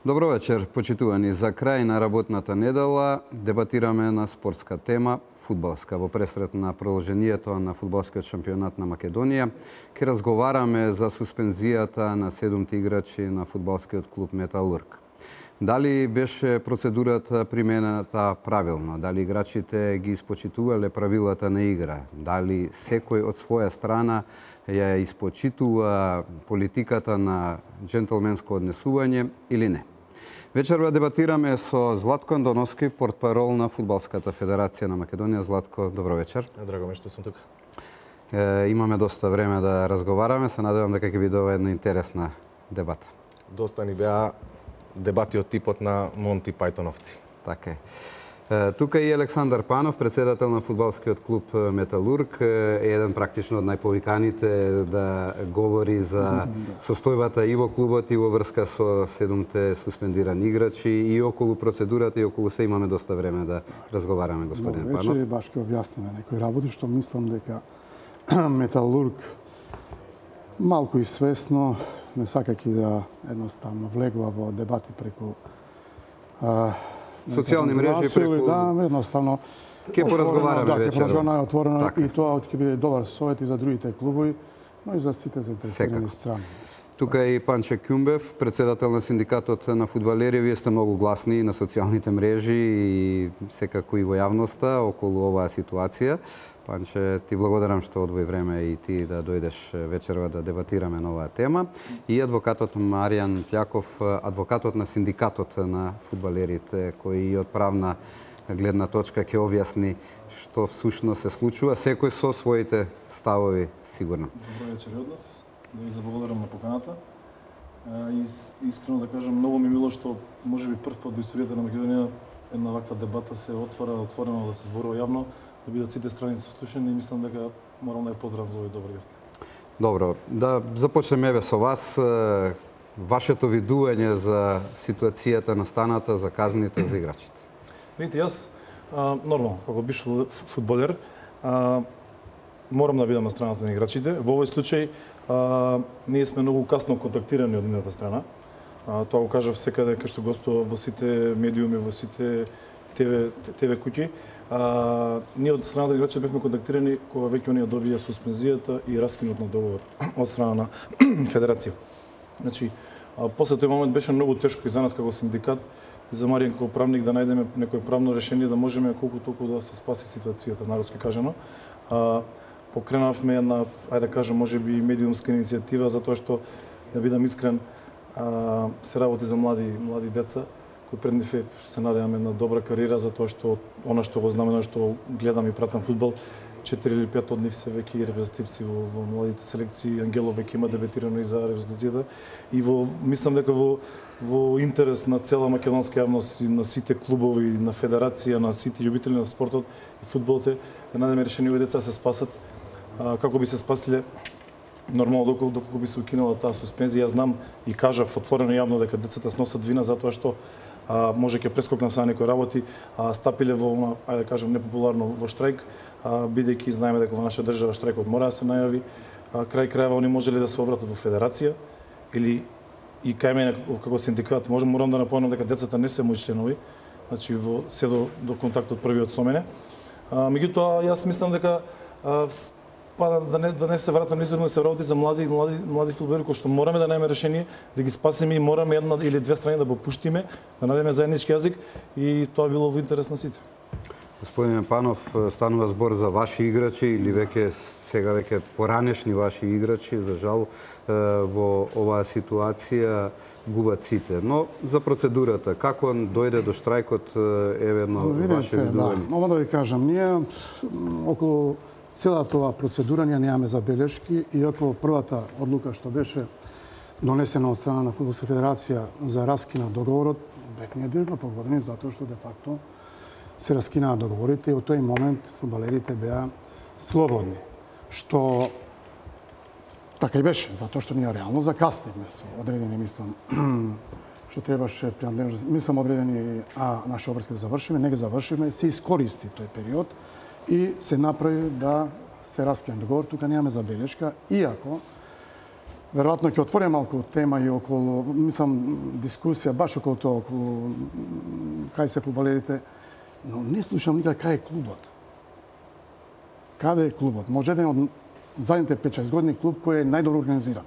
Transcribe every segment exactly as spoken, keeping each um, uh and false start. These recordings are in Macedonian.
Добро вечер, почитувани. За крај на работната недела дебатираме на спортска тема, фудбалска. Во пресрет на продолжението на фудбалскиот шампионат на Македонија, ќе разговараме за суспензијата на седумте играчи на фудбалскиот клуб Металург. Дали беше процедурата примената правилно? Дали играчите ги испочитувале правилата на игра? Дали секој од своја страна ја испочитува политиката на джентлменско однесување или не? Вечерва дебатираме со Златко Андоновски, портпарол на Фудбалската федерација на Македонија. Златко, добро вечер. Драго ми што сум тука. Е, имаме доста време да разговараме, се надевам дека ќе биде една интересна дебата. Доста ни беа дебати од типот на Монти Пајтоновци. Така е. Тука и Александар Панов, председател на фудбалскиот клуб Металург, е еден практично од најповиканите да говори за состојбата и во клубот и во врска со седумте суспендирани играчи и околу процедурата и околу се имаме доста време да разговараме, господин Панов. Вече баш ќе објасниме некои работи што мислам дека Металург малку и свесно, не сакајќи да едноставно влегува во дебати преку а, социјални мрежи, преку... Да, едноставно... Ке поразговараме да, вечерва. Ке поразговараме отворено така. И тоа ќе биде добар совет и за другите клубови, но и за сите заинтересирани страни. Тука е и Панче Кјумбев, председател на синдикатот на фудбалери. Вие сте многу гласни на социјалните мрежи и секако и во јавноста околу оваа ситуација. Панче, ти благодарам што одвои време и ти да дојдеш вечерва да дебатираме на оваа тема. И адвокатот Маријан Пјаков, адвокатот на синдикатот на фудбалерите, кој и од правна гледна точка ќе објасни што всушност се случува, секој со своите ставови сигурно. Добро вечер од нас. Да ви заблагодарам на поканата. И искрено да кажам, многу ми мило што можеби прв пат во историјата на Македонија една ваква дебата се отвара, отворено да се зборува јавно, да бидат сите страни сослушани и мислам дека морам да ја поздравам за овој добар гост. Добро, да започнеме еве со вас. Вашето видување за ситуацијата настаната, за казните за играчите. Видите, јас а, нормално, како бивш фудбалер, а, морам да бидам на страната на играчите. Во овој случај а, ние сме многу касно контактирани од едната страна. А, тоа го кажав секаде кај што гостував во сите медиуми, во сите ТВ, ТВ куќи. А, ние од страната на играчите бевме контактирани кога веќе оние добија суспензијата и раскинот на договор од страна на федерација. Значи, а, после тој момент беше многу тешко и за нас како синдикат и за Маријан како правник да најдеме некој правно решение да можеме колку толку да се спаси ситуацијата, народски кажано. А, покренавме една, ајде да кажам, можеби медиумска иницијатива затоа што, да бидам искрен, а, се работи за млади млади деца кои пред нив се надеваме на добра кариера затоа што она што го знам, она што гледам и пратам фудбал, четири или пет од нив се веќе репрезентативци во, во младите селекции. Ангелов веќе има дебетирано и за репрезентацијата и во мислам дека во во интерес на цела македонска јавност и на сите клубови, на федерација, на сите љубители на спортот и фудбалот е да најдеме решение овие деца се спасат. А, како би се спасиле нормално доколку, доколку би се укинала таа суспензија. Јас знам и кажав отворено јавно дека децата сносат вина затоа што а, може ќе прескокнам са некои работи, а стапиле во она, ајде да кажам, непопуларно во штрајк, а, бидејќи знаеме дека во наша држава штрајкот мора да се најави. А, крај крајава они можеле да се обратат во федерација или и кај мене како синдикат можам морам да напомнам дека децата не се мои членови, значи во се до, до контактот првиот со мене. А, меѓутоа јас мислам дека а, па да не да не се вратам низорно, се работи за млади млади млади фудбалери кои што мораме да најдеме решение да ги спасиме и мораме една или две страни да го пуштиме, да најдеме заеднички јазик и тоа било во интерес на сите. Господин Панов, станува збор за ваши играчи или веќе сега веќе поранешни ваши играчи, за жал во оваа ситуација губат сите. Но за процедурата, како дојде до штрајкот е едно ваше видување? Да, ова да ви кажам, ние околу целата оваа процедура ние немаме забелешки, иако првата одлука што беше донесена од страна на Фудбалска федерација за раскина договорот, бевме директно погодени затоа што де факто се раскинаа договорите и во тој момент фудбалерите беа слободни, што така и беше, затоа што ние реално закаснивме со одредени, мислам, што требаше принадлежност, мислам одредени, а наши обврски да завршиме, не ги завршиме, се искористи тој период и се направи да се раскине договор. Тука немаме забелешка, иако веројатно ќе отворим малку тема и околу, мислам, дискусија баш околу тоа, околу кај се фудбалерите, но не слушам никако кај е клубот. Каде е клубот? Може еден од задните пет-шест години клуб кој е најдобро организиран.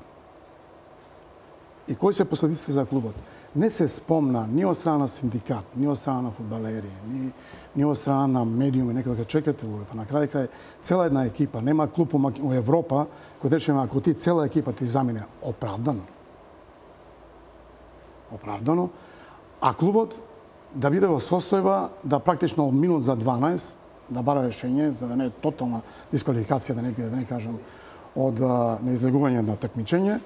И кои се последиците за клубот? Не се спомна ни од страна на синдикат, ни од страна на фудбалери, ни, ни од страна на медиуми, некој ќе чекате во на крај крај цела една екипа, нема клуб у Европа кој речеме ако ти цела екипа ти замине оправдано. Оправдано, а клубот да биде во состојба да практично од минут за дванаесет да бара решење за да не е тотална дисквалификација, да не биде, да не кажам, од неизлегување на такмичење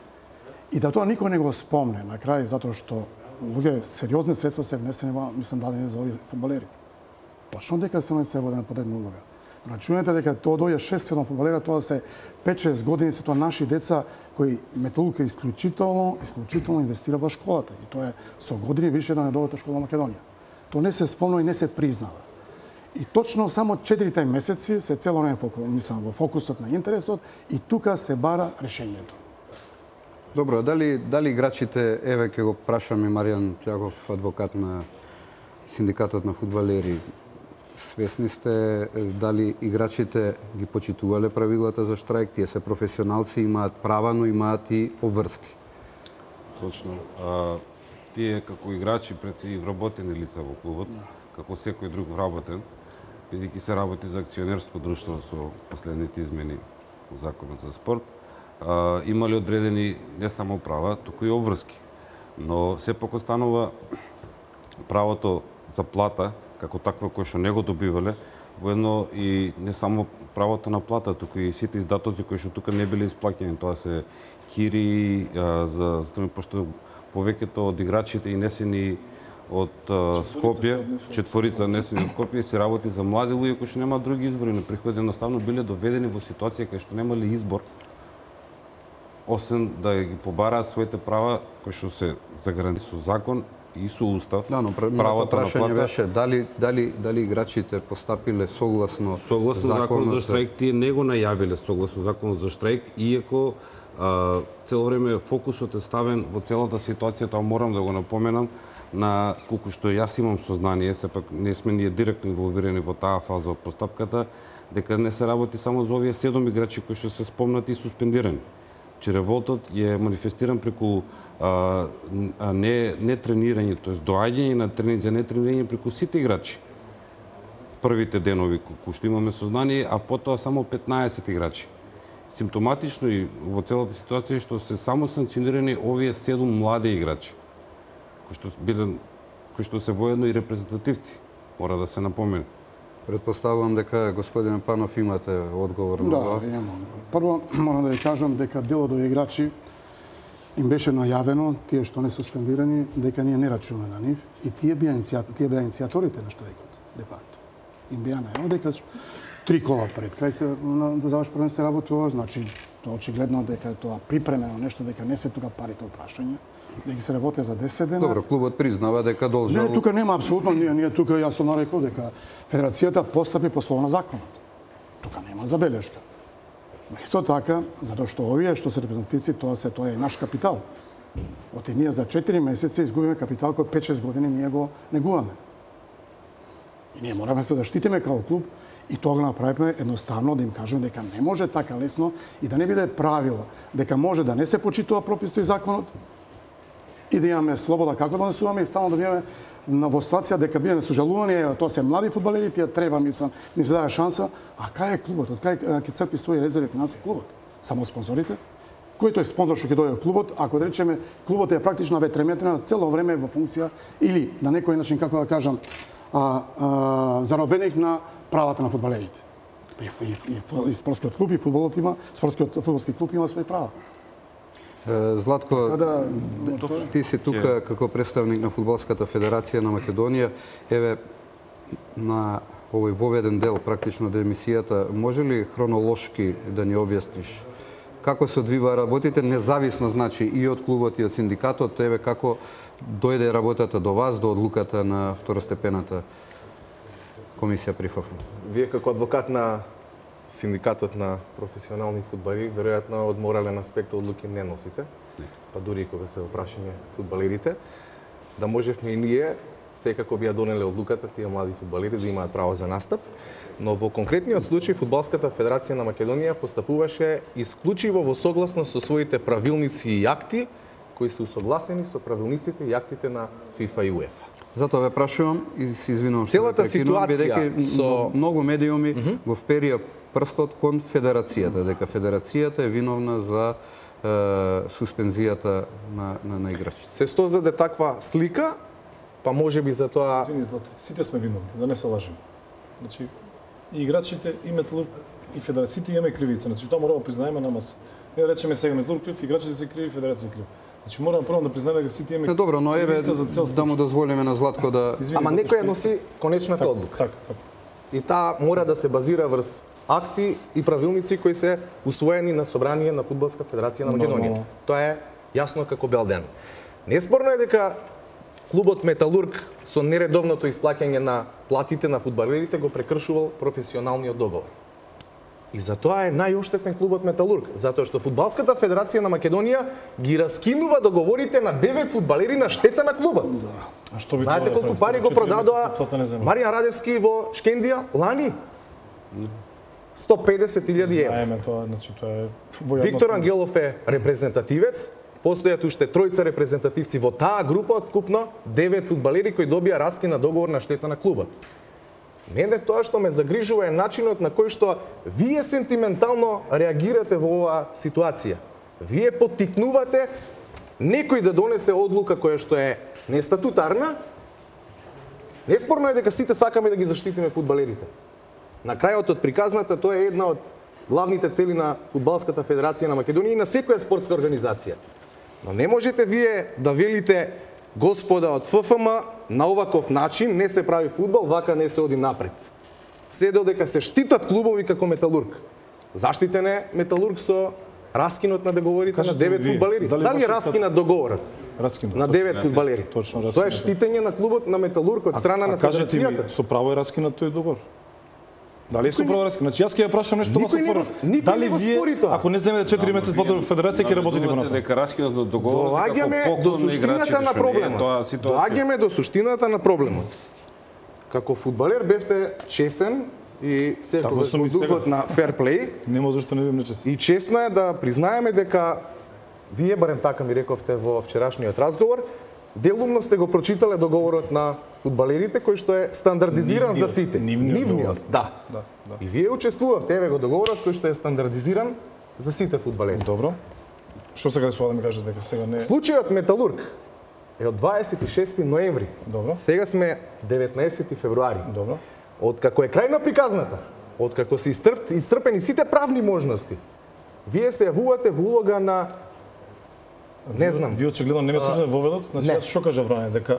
и да тоа никој не го спомне на крај затоа што луѓе сериозни средства се внесени во, мислам, дадени за овие фудбалери. Точно дека се се воден подредна улога. Рачунете дека тоа дојде шест-седум фудбалера, тоа се пет-шест години, се тоа наши деца кои Металург исклучително, исклучително инвестира во школата. И тоа е сто години више да не добата школа Македонија. Тоа не се спомна и не се признава. И точно само четирите месеци се цело време мислам во фокусот на интересот и тука се бара решењето. Добро, дали дали играчите, еве ќе го прашаме Маријан Плјагов, адвокат на синдикатот на фудбалери, свесни сте дали играчите ги почитувале правилата за штрајк, тие се професионалци, имаат права, но имаат и обврски. Точно. А, тие како играчи пред си вработени лица во клубот, како секој друг вработен, бидејќи се работи за акционерско друштво со последните измени во законот за спорт, а, имале одредени не само права, туку и обврски. Но сепак останува правото за плата, како такво кој што не го добивале, воедно и не само правото на плата, туку и сите издатоци кои што тука не биле исплаќени. Тоа се кири, а, за, за пошто повеќето од играчите и несени од а, Скопје, четворица несени од Скопје, се работи за млади луѓе кои што немаат други извори на приходи, едноставно биле доведени во ситуација кај што немале избор освен да ги побараат своите права кои што се загарантирани со закон и со устав. Да, но правото на плата беше дали дали дали играчите постапиле согласно согласно законот за штрајк, тие не го најавиле согласно законот за штрајк, иако а, цело време фокусот е ставен во целата ситуација, тоа морам да го напоменам, на колку што јас имам сознание, сепак не сме ние директно инволвирани во таа фаза од постапката, дека не се работи само за овие седум играчи кои што се спомнати и суспендирани. Че револтот е манифестиран преку а, а не, не тренирање, т.е. доаѓање на тренинг за не тренирање преку сите играчи. Првите денови кои што имаме сознание, а потоа само петнаесет играчи. Симптоматично и во целата ситуација што се само санкционирани овие седум млади играчи, кои што биле кои што се воедно и репрезентативци, мора да се напомене. Предпоставувам дека господин Панов имате одговор на да, тоа. Да, имам. Прво морам да ви кажам дека делот од играчи им беше најавено, тие што не суспендирани, дека ние не рачунаме на нив и тие беа иницијаторите, тие беа иницијаторите на штрајкот, де факто. Им беа најавено дека три кола пред крај се да заврши првенство се работува, значи тоа очигледно дека е тоа припремено нешто, дека не се тука парите опрашање, дека се работи за десет дена. Добро, клубот признава дека должел... Не, тука нема апсолутно, ние, ние тука јасно нарекол дека Федерацијата постапи по слово на законот. Тука нема забелешка. Но исто така, затоа што овие што се репрезентативци, тоа се тоа е наш капитал. Оти ние за четири месеци изгубиме капитал кој пет-шест години ние го негуваме. И ние мораме се заштитиме како клуб и тоа го направиме едноставно да им кажеме дека не може така лесно и да не биде правило дека може да не се почитува прописто и законот, и да имаме слобода како да насуваме и стално да бидеме во ситуација дека бидеме сожалувани, тоа се млади фудбалери, тие треба, мислам, ним се дава шанса, а кај е клубот, од кај ќе црпи своји резерви финанси клубот? Само спонзорите? Кој тој спонзор што ќе дојде во клубот, ако да речеме клубот е практично ветреметрена цело време во функција или на некој начин, како да кажам, а, а, заробеник на правата на фудбалерите. И, и, и, и спортскиот клуб и фудбалот има, спортскиот фудбалски клуб има своји права. Златко, да, ти си тука како представник на Фудбалската федерација на Македонија. Еве, на овој воведен дел практично од емисијата, може ли хронолошки да ни објасниш како се одвива работите, независно значи и од клубот и од синдикатот, еве како дојде работата до вас, до одлуката на второстепената комисија при ФАФУ? Вие како адвокат на синдикатот на професионални фудбалери веројатно од морален аспект одлуки не носите, па дури и кога се опрашање фудбалерите, да можевме и ние секако би ја донеле одлуката тие млади фудбалери да имаат право за настап, но во конкретниот случај Фудбалската федерација на Македонија постапуваше исклучиво во согласност со своите правилници и акти кои се усогласени со правилниците и актите на ФИФА и УЕФА. Затоа ве прашувам и се извинувам што Целата ве прекинувам, ситуација бидејќи со- многу медиуми mm -hmm. го вперија прстот кон федерацијата, дека федерацијата е виновна за е, суспензијата на, на, на играчите. Се создаде таква слика, па може би за тоа... Извини, Злате, сите сме виновни, да не се лажеме. Значи, и играчите, и Металург, и федерациите имаме кривица. Значи, тоа мора да признаеме на маса. Не да речеме сега Металург крив, играчите се криви, федерација крив. Значи, мораме прво да признаеме дека сите имаме Не, добро, но еве кривица за цел да му дозволиме на Златко да... Извини, Ама Злате, некој ја што- носи конечната Така, одлука. така, така. И таа мора да се базира врз акти и правилници кои се усвоени на собрание на Фудбалска федерација на Македонија. Нормално. Тоа е јасно како бел ден. Неспорно е дека клубот Металург со нередовното исплаќање на платите на фудбалерите го прекршувал професионалниот договор. И затоа е најоштетен клубот Металург, затоа што Фудбалската федерација на Македонија ги раскинува договорите на девет фудбалери на штета на клубот. А што би Знаете требало да колку прави? пари го Четири продадоа месеца плата не земе. Маријан Радевски во Шкендија лани? сто педесет илјади евра. Знаеме тоа, значи тоа е во јавност. Виктор Ангелов е репрезентативец, постојат уште тројца репрезентативци во таа група од вкупно девет фудбалери кои добија раскина договор на штета на клубот. Мене тоа што ме загрижува е начинот на кој што вие сентиментално реагирате во оваа ситуација. Вие поттикнувате некој да донесе одлука која што е нестатутарна. Неспорно е дека сите сакаме да ги заштитиме фудбалерите. На крајот од приказната тоа е една од главните цели на Фудбалската федерација на Македонија и на секоја спортска организација. Но не можете вие да велите господа од ФФМ на оваков начин не се прави фудбал, вака не се оди напред. Се додека се штитат клубови како Металург. Заштитен е Металург со раскинот на договорите на Кажете девет вие, фудбалери. дали Дали е баш раскинат договорот Раскинат. на девет фудбалери? Точно, Тоа е раскинат. штитење на клубот на Металург од страна на А кажете ми, федерацијата. со право е раскинат тој договор? Дали е со право раскинат? Значи јас ќе ја прашам нешто Никој вас не го- отворено. никој Дали не го вие, спори тоа. ако не земете четири месеци плата во федерација, ќе работите го натаму? Дека раскинот од договорот Доаѓаме како до поклон на играчите, суштината на што не е проблемот. тоа ситуација. Доаѓаме до суштината на проблемот. Како фудбалер бевте чесен и секогаш Така сум во и сега. духот на фер плей Нема зашто не бидам нечест. и честно е да признаеме дека вие барем така ми рековте во вчерашниот разговор, делумно сте го прочитале договорот на фудбалерите кој што е стандардизиран за Нивниот, сите. нивниот договор. да. Да, да. И вие учествувавте еве го договорот кој што е стандардизиран за сите фудбалери. Добро. Што сега да ми кажете дека сега не е? Случајот Металург е од дваесет и шести ноември. Добро. Сега сме деветнаесети февруари. Добро. Откако е крај на приказната, откако се истрп, истрпени сите правни можности, вие се јавувате во улога на не знам. Вие очигледно не ме слушате во ведот, значи не. јас што кажа Бране, дека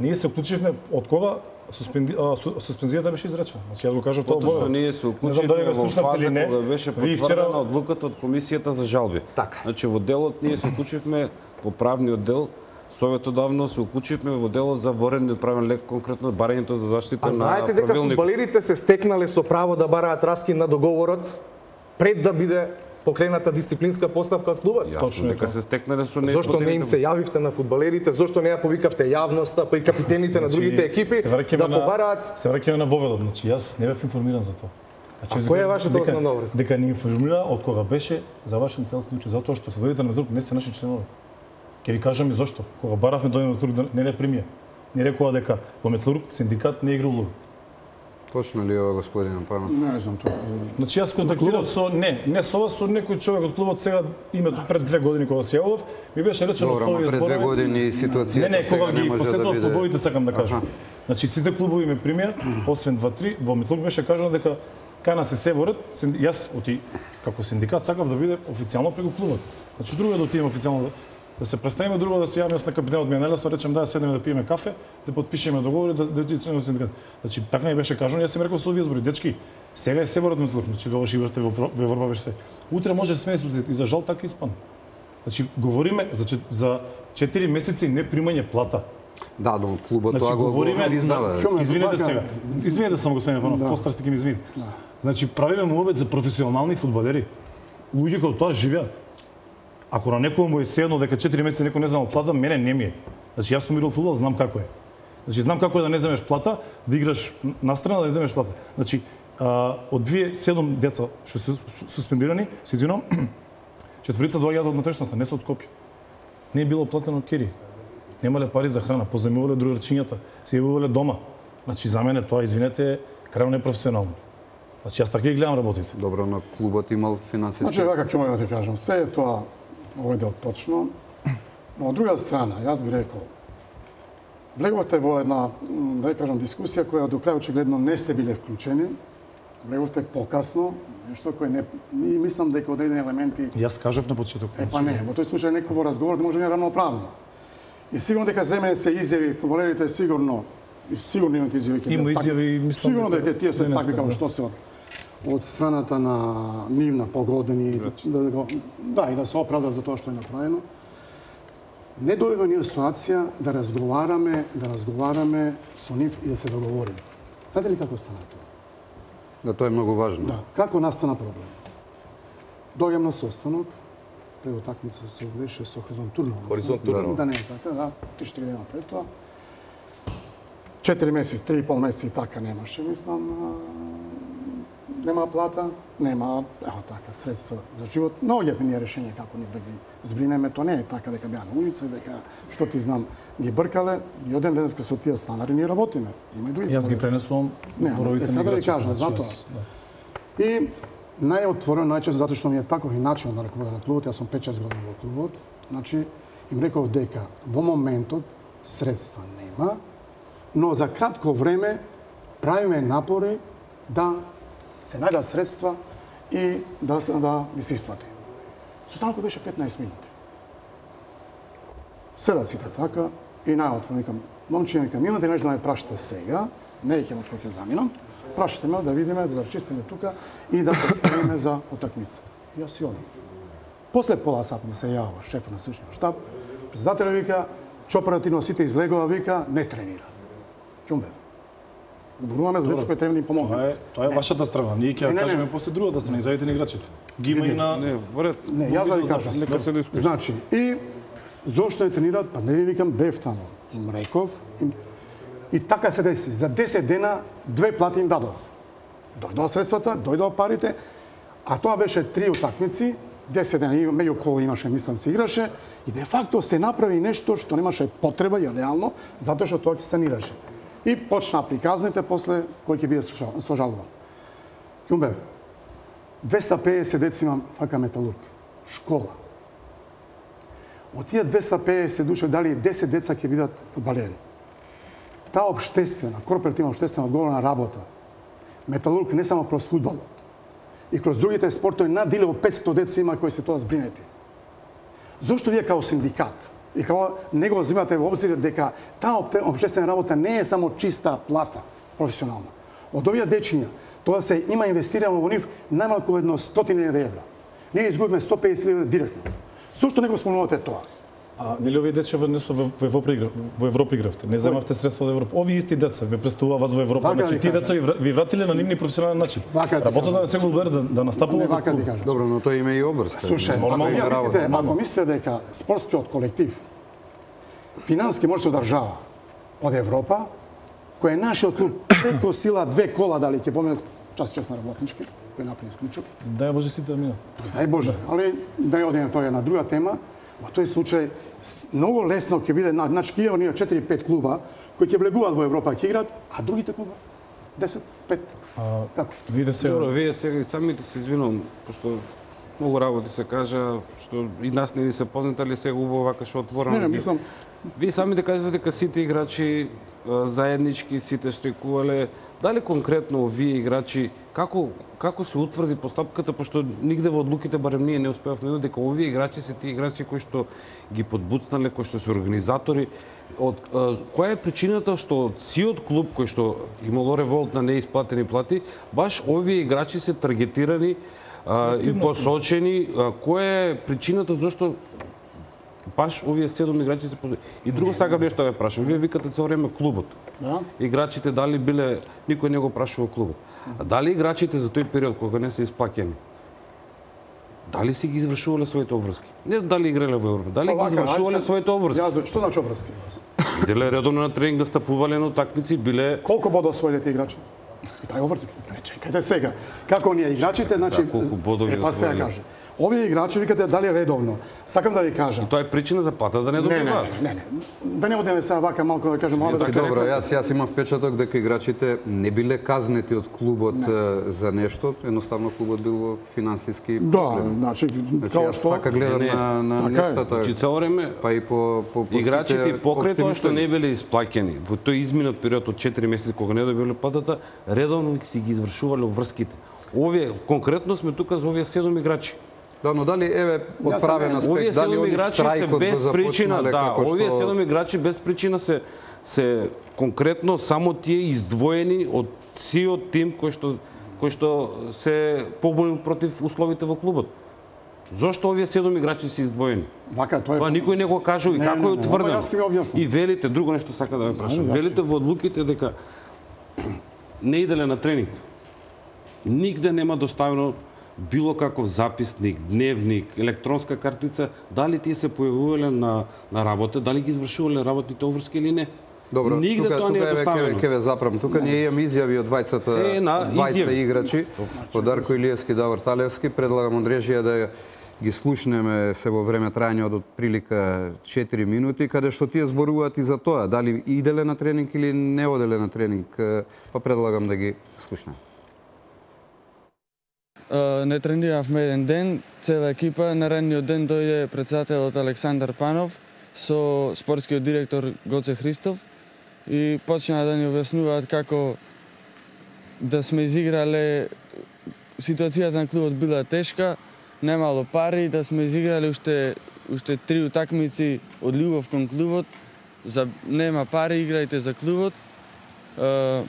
ние се вклучивме од кога суспенди, а, су, суспензијата беше изречена. Значи јас го кажав тоа во Потоа ведот. ние се Не знам дали уклучивме го во слушнавте или фаза не. кога беше Вие потврдена вчера одлуката од комисијата за жалби. Така. Значи во делот ние се уклучивме во правниот дел, советодавно се уклучивме во делот за ворениот правен лек, конкретно барањето за заштита А на знаете дека правилник. фудбалерите се стекнале со право да бараат раскин на договорот пред да биде покрената дисциплинска постапка од клубот? Јасно Точно е дека тоа. се стекнале со Зошто не им се јавивте на фудбалерите? Зошто не ја повикавте јавноста, па и капитените на другите екипи Се враќаме да на- побараат? Се враќаме на воведот, значи јас не бев информиран за тоа. Значи, А јас која е кажам вашата дека- основна врска? Дека не информира од кога беше завршен цел случај, затоа што фудбалерите на Металург не се наши членови. Ќе ви кажам и зошто. Кога баравме дојде Металург да не не примија. Не рекоа дека во Металург синдикат не игра улога. Точно ли е ова, господин Панов? Не знам тоа. Значи јас контактирав со не, не со вас, со некој човек од клубот сега името пред две години кога се јавов, ми беше речено Добро, со ама овие пред две зборови. години ситуацијата Не, не, сега кога не ги може да посетував биде... клубовите сакам да кажам. Аха. Значи сите клубови ме примија, освен два-три, во Металург беше кажано дека кана се се ворат, синди- јас оти како синдикат сакав да биде официјално преку клубот. Значи друго е да отидеме официјално да, да се представиме, друго да се јавиме на капитенот ми е најлесно, речем да седнеме да пиеме кафе, да потпишеме договори, да да отидеме во синдикат. Значи така ми беше кажано, јас им реков со овие збори, дечки, сега е се ворат Металург, значи тогаш играте во во Европа беше се. Утре може да сме и за жал така испан. Значи говориме за чет- за четири месеци не примање плата. Да, но клубот Значи, тоа го говориме, признава. да, извинете сега. Извинете само господин Иванов, Да. постарате ке ми извини. Да. Значи правиме муабет за професионални фудбалери. Луѓе кои тоа живеат. Ако на некој му е седно дека четири месеци некој не знал плата, мене не ми е. Значи јас сум играл фудбал, знам како е. Значи знам како е да не земеш плата, да играш настрана да не земеш плата. Значи а, од две седум деца што се суспендирани, се извинувам, четворица доаѓаат од натрешноста, не се од Скопје. Не е било платено кери. Немале пари за храна, позајмувале другарчињата, се јавувале дома. Значи за мене тоа, извинете, крајно непрофесионално. Значи јас така ги гледам работите. Добро, но клубот имал финансиски. Значи, вака ќе мога да ти кажам, се е тоа овој дел точно. Но од друга страна, јас би рекол, влеговте во една, м, да ја кажам, дискусија која до крај очигледно не сте биле вклучени. Влеговте покасно, нешто кое не, не мислам дека одредени елементи. Јас кажав на почеток. Е, па не, во тој случај некој во разговор да може да е рамноправно. И сигурно дека за мене се изјави фудбалерите сигурно и сигурно имате изјави ќе Има бидат такви. изјави, мислам, Сигурно дека дека тие се не такви скажа. како што се од од страната на нивна погодени да, да, го- да и да се оправдат за тоа што е направено. Не дојде ние ситуација да разговараме, да разговараме со нив и да се договориме. Знаете ли како стана тоа? Да, тоа е многу важно. Да, како настана проблем? Дојам на состанок, пред утакмица се беше со Хоризонт Турново. Хоризонт Да, Турново. Да, не е така, да, три-четири дена пред тоа. Четири месеци, три и пол месеци така немаше, мислам, а, нема плата, нема, ево така, средства за живот. Наоѓавме ние решение како ни да ги збринеме, тоа не е така дека беа на улица и дека, што ти знам, ги бркале, и оден денеска со тие станари ние работиме. Има и други. Јас ги пренесувам Не, зборовите е, на сега да ви играчите, кажам, значи, затоа. јас- да. И најотворено, најчесто затоа што ми е таков и начин на ръководење на клубот, јас сум пет-шест години во клубот, значи им реков дека во моментот средства нема, но за кратко време правиме напори да се најдат средства и да се да ми се исплати. Состанокот беше петнаесет минути. Седат сите така и најотворено викам, момче, викам, имате нешто да ме прашате сега, не ќе од кој ќе заминам, прашате ме да видиме, да рачистиме тука и да се спремиме за утакмица. И јас си одам. После пола сат ми се јава шефот на стручниот штаб, председателот вика, че оперативно сите излегува, вика, не тренира. Ќумбе. Зборуваме за деца кои треба да им Тоа е, помогнат. тоа е вашата страна. Ние ќе Не, ја не, кажеме не. после другата страна, изјавите на играчите. Ги има и на Не, во ред. Не, јас да ви кажам. Нека се дискусија. Значи, и зошто не тренираат? Па не ви викам бев таму. Им реков, им... и така се деси. За десет дена две плати им дадов. Дојдоа средствата, дојдоа парите, а тоа беше три утакмици, десет дена и меѓу кола имаше, мислам, се играше, и де факто се направи нешто што немаше потреба и реално, затоа што тоа ќе санираше. И почна приказните после кој ќе биде сложалуван. Ќумбе, двеста пеесет деца имам фака металург, школа. Од тие двеста пеесет души дали десет деца ќе бидат фудбалери. Таа обштествена, корпоративна обштествена одговорна работа, металург не само кроз фудбалот, и кроз другите спортови надиле од петстотини деца има кои се тоа збринети. Зошто вие као синдикат и као не го земате во обзир дека таа обштествена работа не е само чиста плата, професионална. Од овие дечиња, тоа се има инвестирано во нив најмалку едно стотини евра. Ние изгубиме сто песет евра директно. Зошто не го спомнувате тоа? А нели овие деча не со во во Европа игра, во Европа игравте, не земавте средства од Европа. Овие исти деца ве представува вас во Европа, Вака значи ви тие кажам. деца ви, вра- ви вратиле на нивни професионален начин. Вака ти Работата кажам. на секој одбор да, да настапува Не за вака клуб. ти кажам. Добро, но тоа има и обврска. Слушај, ако Нормално вие е мислите, работа, ако мислите дека спортскиот колектив финански може да се одржава од Европа, кој е нашиот клуб преко сила две кола дали ќе помине час час на работнички, кој направи исклучок. Дај Боже сите да минат. Дај Боже, али да не одиме, тоа е една друга тема. Во тој случај с- многу лесно ќе биде, на- значи ќе имаме четири-пет клуба кои ќе влегуваат во Европа ќе играат, а другите клуба десет, пет. Како? Виде се Добро, вие сега и самите се извинувам, пошто многу работи се кажа, што и нас не ни се познати, али сега убаво вака што отворено. Не, не, ги- мислам, Вие самите кажете дека сите играчи а, заеднички, сите штрикувале. Дали конкретно овие играчи, како, како се утврди постапката, пошто нигде во одлуките, барем ние не успеавме да дека овие играчи се тие играчи кои што ги подбуцнале, кои што се организатори. Од, а, која е причината што од сиот клуб кој што имало револт на неисплатени плати, баш овие играчи се таргетирани а, и Селективно се. посочени? А, која е причината зашто баш овие седум играчи се позови. И друго сакам нешто да ве прашам. Вие викате цело време клубот. Да. Играчите дали биле, никој не го прашува клубот. А дали играчите за тој период кога не се исплаќени, дали си ги извршувале своите обврски? Не дали играле во Европа, дали ги извршувале своите обврски? Јас што значи обврски? Иделе редовно на тренинг да стапувале на утакмици, биле Колку бодови освоиле тие играчи? И тај обврски. Не, чекајте сега. Како ние играчите, значи За колку бодови е, па сега освоиле? каже. Овие играчи викате дали редовно. Сакам да ви кажам. тоа е причина за плата да не Не, не, добиваат. не, не, не. Да не одеме сега вака малку да кажем, мора да Значи, кажем. добро, јас јас имам впечаток дека играчите не биле казнети од клубот е, за нешто, едноставно клубот бил во финансиски Да, проблем. значи Значи као јас што така гледам Не, не. на на Така е. нештата. Значи цело време Па и по по по играчите сите покрај општи тоа што мишлења. не биле исплаќени во тој изминат период од четири месеци кога не добиле платата, редовно си ги извршувале обврските. Овие конкретно сме тука за овие седум играчи. Да, но дали еве од Јас сам правен еден- Овие аспект, дали седум они играчи се штрајкот без го причина, започнале да, како овие што- седум играчи без причина се се конкретно само тие издвоени од сиот тим кој што кој што се побунил против условите во клубот. Зошто овие седум играчи се издвоени? Вака, тоа е. Па никој не го кажува и Не, како не, е не, утврдено. ова јас ќе ви објаснам. И велите, друго нешто сака да ве прашам. јас ќе- Велите во одлуките дека не иделе на тренинг. Нигде нема доставено било каков записник, дневник, електронска картица, дали тие се појавувале на на работа, дали ги извршувале работните обврски или не. Добро, Нигде тука, тоа не тука е еве доставено. ке ве заправам. Тука ние имаме изјави од двајцата Се на двајца изјави. играчи, од Дарко Илиевски, Давор Талевски. Предлагам од режија да ги слушнеме се во време трајање од отприлика четири минути, каде што тие зборуваат и за тоа, дали иделе на тренинг или не оделе на тренинг, па предлагам да ги слушнеме. Не трениравме еден ден, цела екипа. Наредниот ден дојде председателот Александар Панов со спортскиот директор Гоце Христов и почнаа да ни објаснуваат како да сме изиграле, ситуацијата на клубот била тешка, немало пари, да сме изиграле уште уште три утакмици од љубов кон клубот, за нема пари, играјте за клубот. Uh,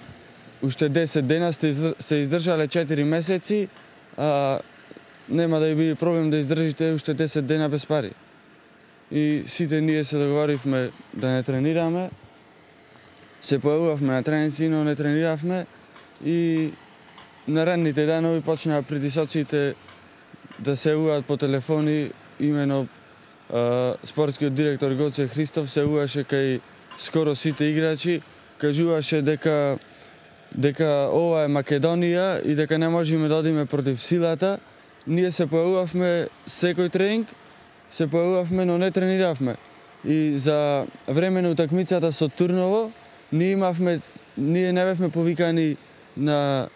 уште десет дена сте из, се издржале четири месеци, а нема да ви биде проблем да издржите уште десет дена без пари. И сите ние се договоривме да не тренираме. Се појавувавме на тренинци, но не трениравме и наредните денови почнаа притисоците да се јавуваат по телефони, имено а, спортскиот директор Гоце Христов се јавуваше кај скоро сите играчи, кажуваше дека дека ова е Македонија и дека не можеме да одиме против силата. Ние се појавувавме секој тренинг, се појавувавме, но не трениравме. И за време на утакмицата со Турново, ние имавме, ние не бевме повикани на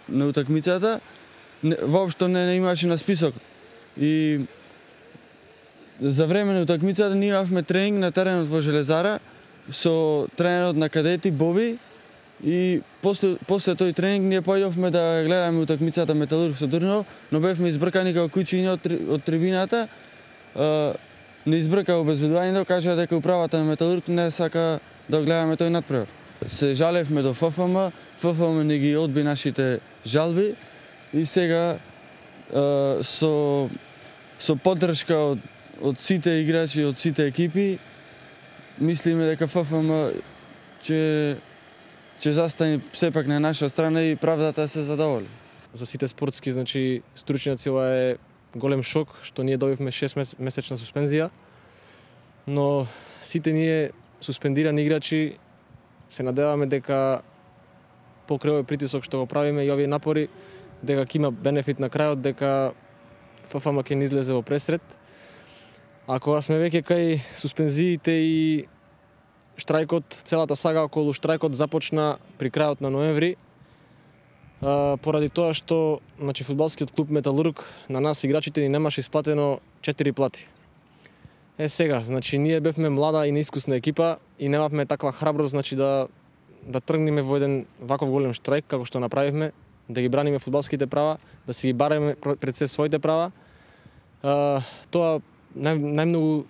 на утакмицата, не, воопшто не, не имаше на список. И за време на утакмицата ние имавме тренинг на теренот во Железара со тренерот на кадети Боби и после, после тој тренинг ние појдовме да гледаме утакмицата Металург со Турново, но бевме избркани како куќиња од, од трибината. Uh, не избрка обезбедувањето, кажа дека управата на Металург не сака да гледаме тој натпревар. Се жалевме до ФФМ, ФФМ не ги одби нашите жалби и сега uh, со со поддршка од од сите играчи, од сите екипи, мислиме дека ФФМ ќе ќе застане сепак на наша страна и правдата се задоволи. За сите спортски, значи стручњаци, ова е голем шок што ние добивме шест месечна суспензија, но сите ние суспендирани играчи се надеваме дека покрај овој притисок што го правиме и овие напори, дека ќе има бенефит на крајот, дека ФФМ ќе ни излезе во пресред. А кога сме веќе кај суспензиите и штрајкот, целата сага околу штрајкот започна при крајот на ноември, Uh, поради тоа што значи фудбалскиот клуб Металург на нас играчите ни немаше исплатено четири плати. Е сега, значи ние бевме млада и неискусна екипа и немавме таква храброст, значи да да тргнеме во еден ваков голем штрајк како што направивме, да ги браниме фудбалските права, да си ги бареме пред се своите права. Uh, тоа нај, најмногу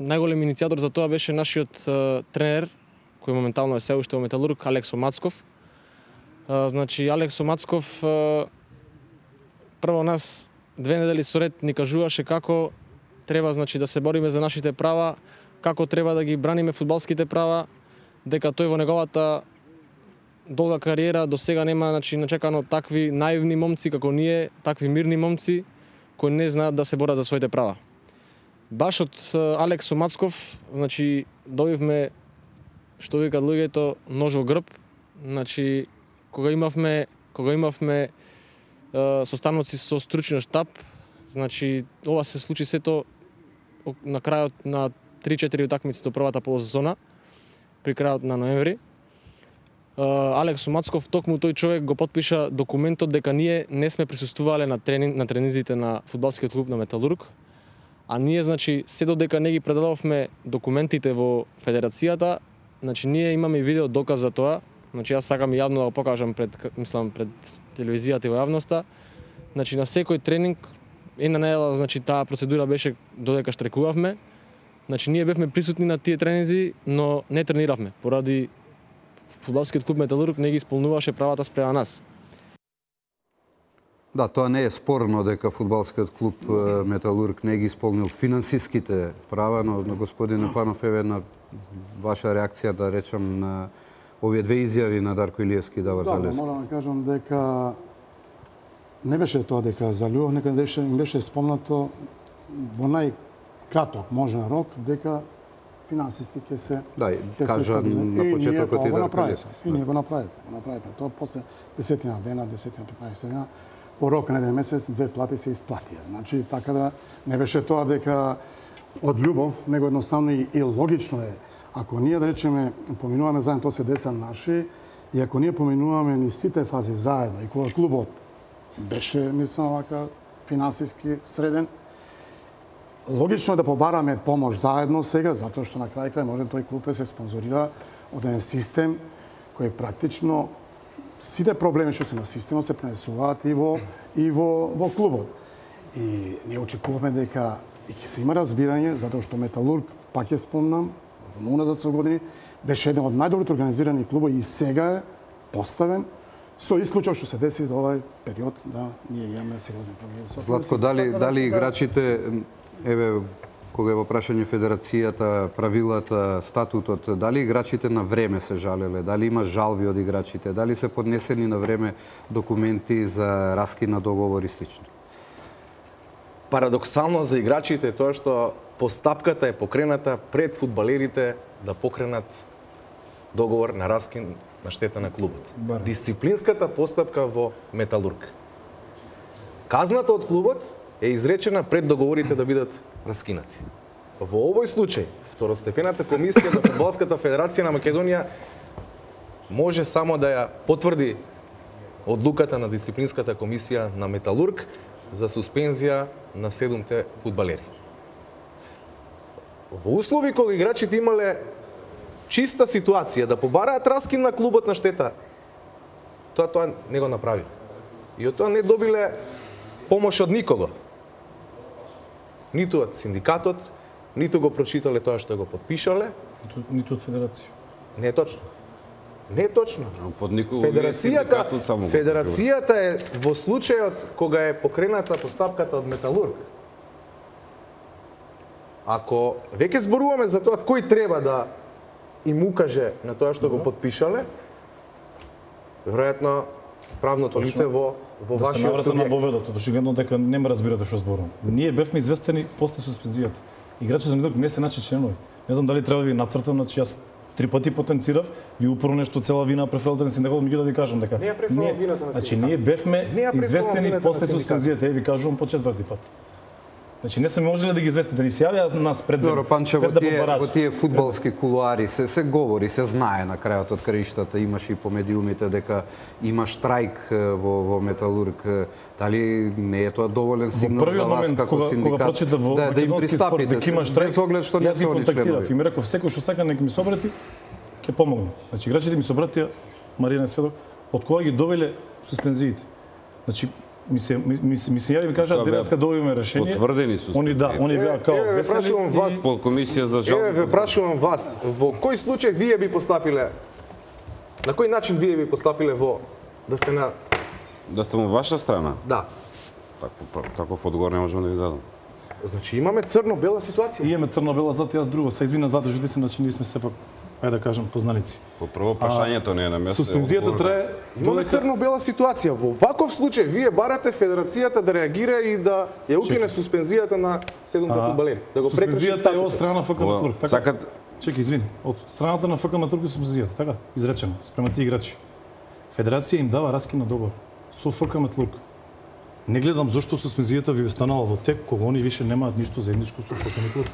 најголем иницијатор за тоа беше нашиот uh, тренер, кој моментално е се уште во Металург, Алексо Мацков. Uh, значи, Алексо Мацков uh, прво нас две недели соред ни кажуваше како треба значи да се бориме за нашите права, како треба да ги браниме фудбалските права, дека тој во неговата долга кариера до сега нема значи начекано такви наивни момци како ние, такви мирни момци кои не знаат да се борат за своите права. Баш од Алекс Мацков, значи добивме што викаат луѓето нож во грб, значи кога имавме кога имавме е, состаноци со стручен штаб, значи ова се случи сето на крајот на три-четири утакмици до првата полусезона, при крајот на ноември. Алекс Мацков, токму тој човек го потпиша документот дека ние не сме присуствувале на тренинг на тренизите на фудбалскиот клуб на Металург, а ние значи се додека не ги предадовме документите во федерацијата, значи ние имаме и видео доказ за тоа. Значи јас сакам јавно да го покажам пред мислам пред телевизијата и во јавноста. Значи на секој тренинг една недела значи таа процедура беше додека штрекувавме. Значи ние бевме присутни на тие тренинзи, но не трениравме поради фудбалскиот клуб Металург не ги исполнуваше правата спрема нас. Да, тоа не е спорно дека фудбалскиот клуб Металург не ги исполнил финансиските права, но, но господин Панов, еве на ваша реакција да речам на овие две изјави на Дарко Илиевски и Давор Залевски. Да, морам да кажам дека не беше тоа дека за љубов, нека беше, им беше спомнато во најкраток можен рок дека финансиски ќе се да, ќе кажа се на почетокот и да направи. И ние го направивме, го направивме тоа после десетина дена, десетина петнаесет дена, во рок на еден месец две плати се исплатија. Значи така да не беше тоа дека од љубов, него едноставно и, и логично е. Ако ние да речеме поминуваме заедно, тоа се деца наши, и ако ние поминуваме ни сите фази заедно и кога клубот беше мислам вака финансиски среден, логично е да побараме помош заедно сега, затоа што на крај крај може тој клуб се спонзорира од еден систем кој практично сите проблеми што се на системот се пренесуваат и во и во во клубот. И ние очекуваме дека и ќе се има разбирање затоа што Металург, пак ја спомнам, уназад со години беше еден од најдобрите организирани клубови и сега е поставен со исклучок што се деси до овај период да ние имаме сериозни проблеми. Златко, дали дали играчите еве кога е во прашање федерацијата, правилата, статутот, дали играчите на време се жалеле, дали има жалби од играчите, дали се поднесени на време документи за раскид на договор и слично? Парадоксално за играчите е тоа што постапката е покрената пред фудбалерите да покренат договор на раскид на штета на клубот. Бар. Дисциплинската постапка во Металург. Казната од клубот е изречена пред договорите да бидат раскинати. Во овој случај, второстепената комисија на Фудбалската федерација на Македонија може само да ја потврди одлуката на дисциплинската комисија на Металург за суспензија на седумте фудбалери. Во услови кога играчите имале чиста ситуација да побараат раскин на клубот на штета, тоа тоа не го направи. И од тоа не добиле помош од никого. Ниту од синдикатот, ниту го прочитале тоа што го подпишале. Ниту, ниту од федерација. Не е точно. Не е точно. Под никого Федерацијата, федерацијата е во случајот кога е покрената постапката од Металург. Ако веќе зборуваме за тоа кој треба да им укаже на тоа што го подпишале, веројатно правното лице во во да вашиот се субјект. на воведот, очигледно дека не ме разбирате што зборувам. Ние бевме известени после суспензијата. Играчите на Металург не се начи членови. Не знам дали треба да ви нацртам, значи јас три пати потенцирав, ви упорно нешто цела вина префрлате на синдикатот, меѓу да ви кажам дека Не ја префрлам вината на значи синдикатот. ние бевме Не ја префрлам известени вината после на синдикатот. суспензијата, е ви кажувам по четврти пат. Значи не сме можеле да ги известите, да ни се јави нас пред Добро, Панче, во пред да тие, побарачи. во тие фудбалски кулуари се се говори, се знае на крајот од краиштата, имаше и по медиумите дека има штрајк во во Металург. Дали не е тоа доволен сигнал за вас момент, како кога, синдикат кога прочитав во да, да им македонски спорт пристапите дека има штрайк, без оглед што не јас се ги они контактирав членови? и ми реков секој што сака нека ми се обрати, ќе помогне. Значи играчите ми се обратија, Марина Сведок, од кога ги довеле суспензиите. Значи ми се ми, ми, ми се јави ми кажа Тоа беа денеска добивме решение. потврдени суспензии. Они да, они беа као Еве, ве прашувам весели вас, и По комисија за жалби. Еве ве прашувам вас, во кој случај вие би постапиле? На кој начин вие би постапиле во да сте на Да сте во ваша страна. да. Таков таков одговор не можам да ви дадам. Значи имаме црно-бела ситуација. И имаме црно-бела, затоа јас друго. Се извинам, затоа што се значи ние сме сепак, ајде да кажам, познаници. По прво прашањето не е на место. Суспензијата трае. Имаме црно-бела ситуација. Во ваков случај вие барате федерацијата да реагира и да ја укине суспензијата на седумте фудбалери. Да го прекрши суспензијата е од страна на ФК Металург. Така. Сакат Чекај, извини. Од страната на ФК Металург е суспензијата, така? Изречено спрема тие играчи. Федерација им дава раскина договор со ФК Металург. Не гледам зошто суспензијата ви станала во тек кога они више немаат ништо заедничко со ФК Металург.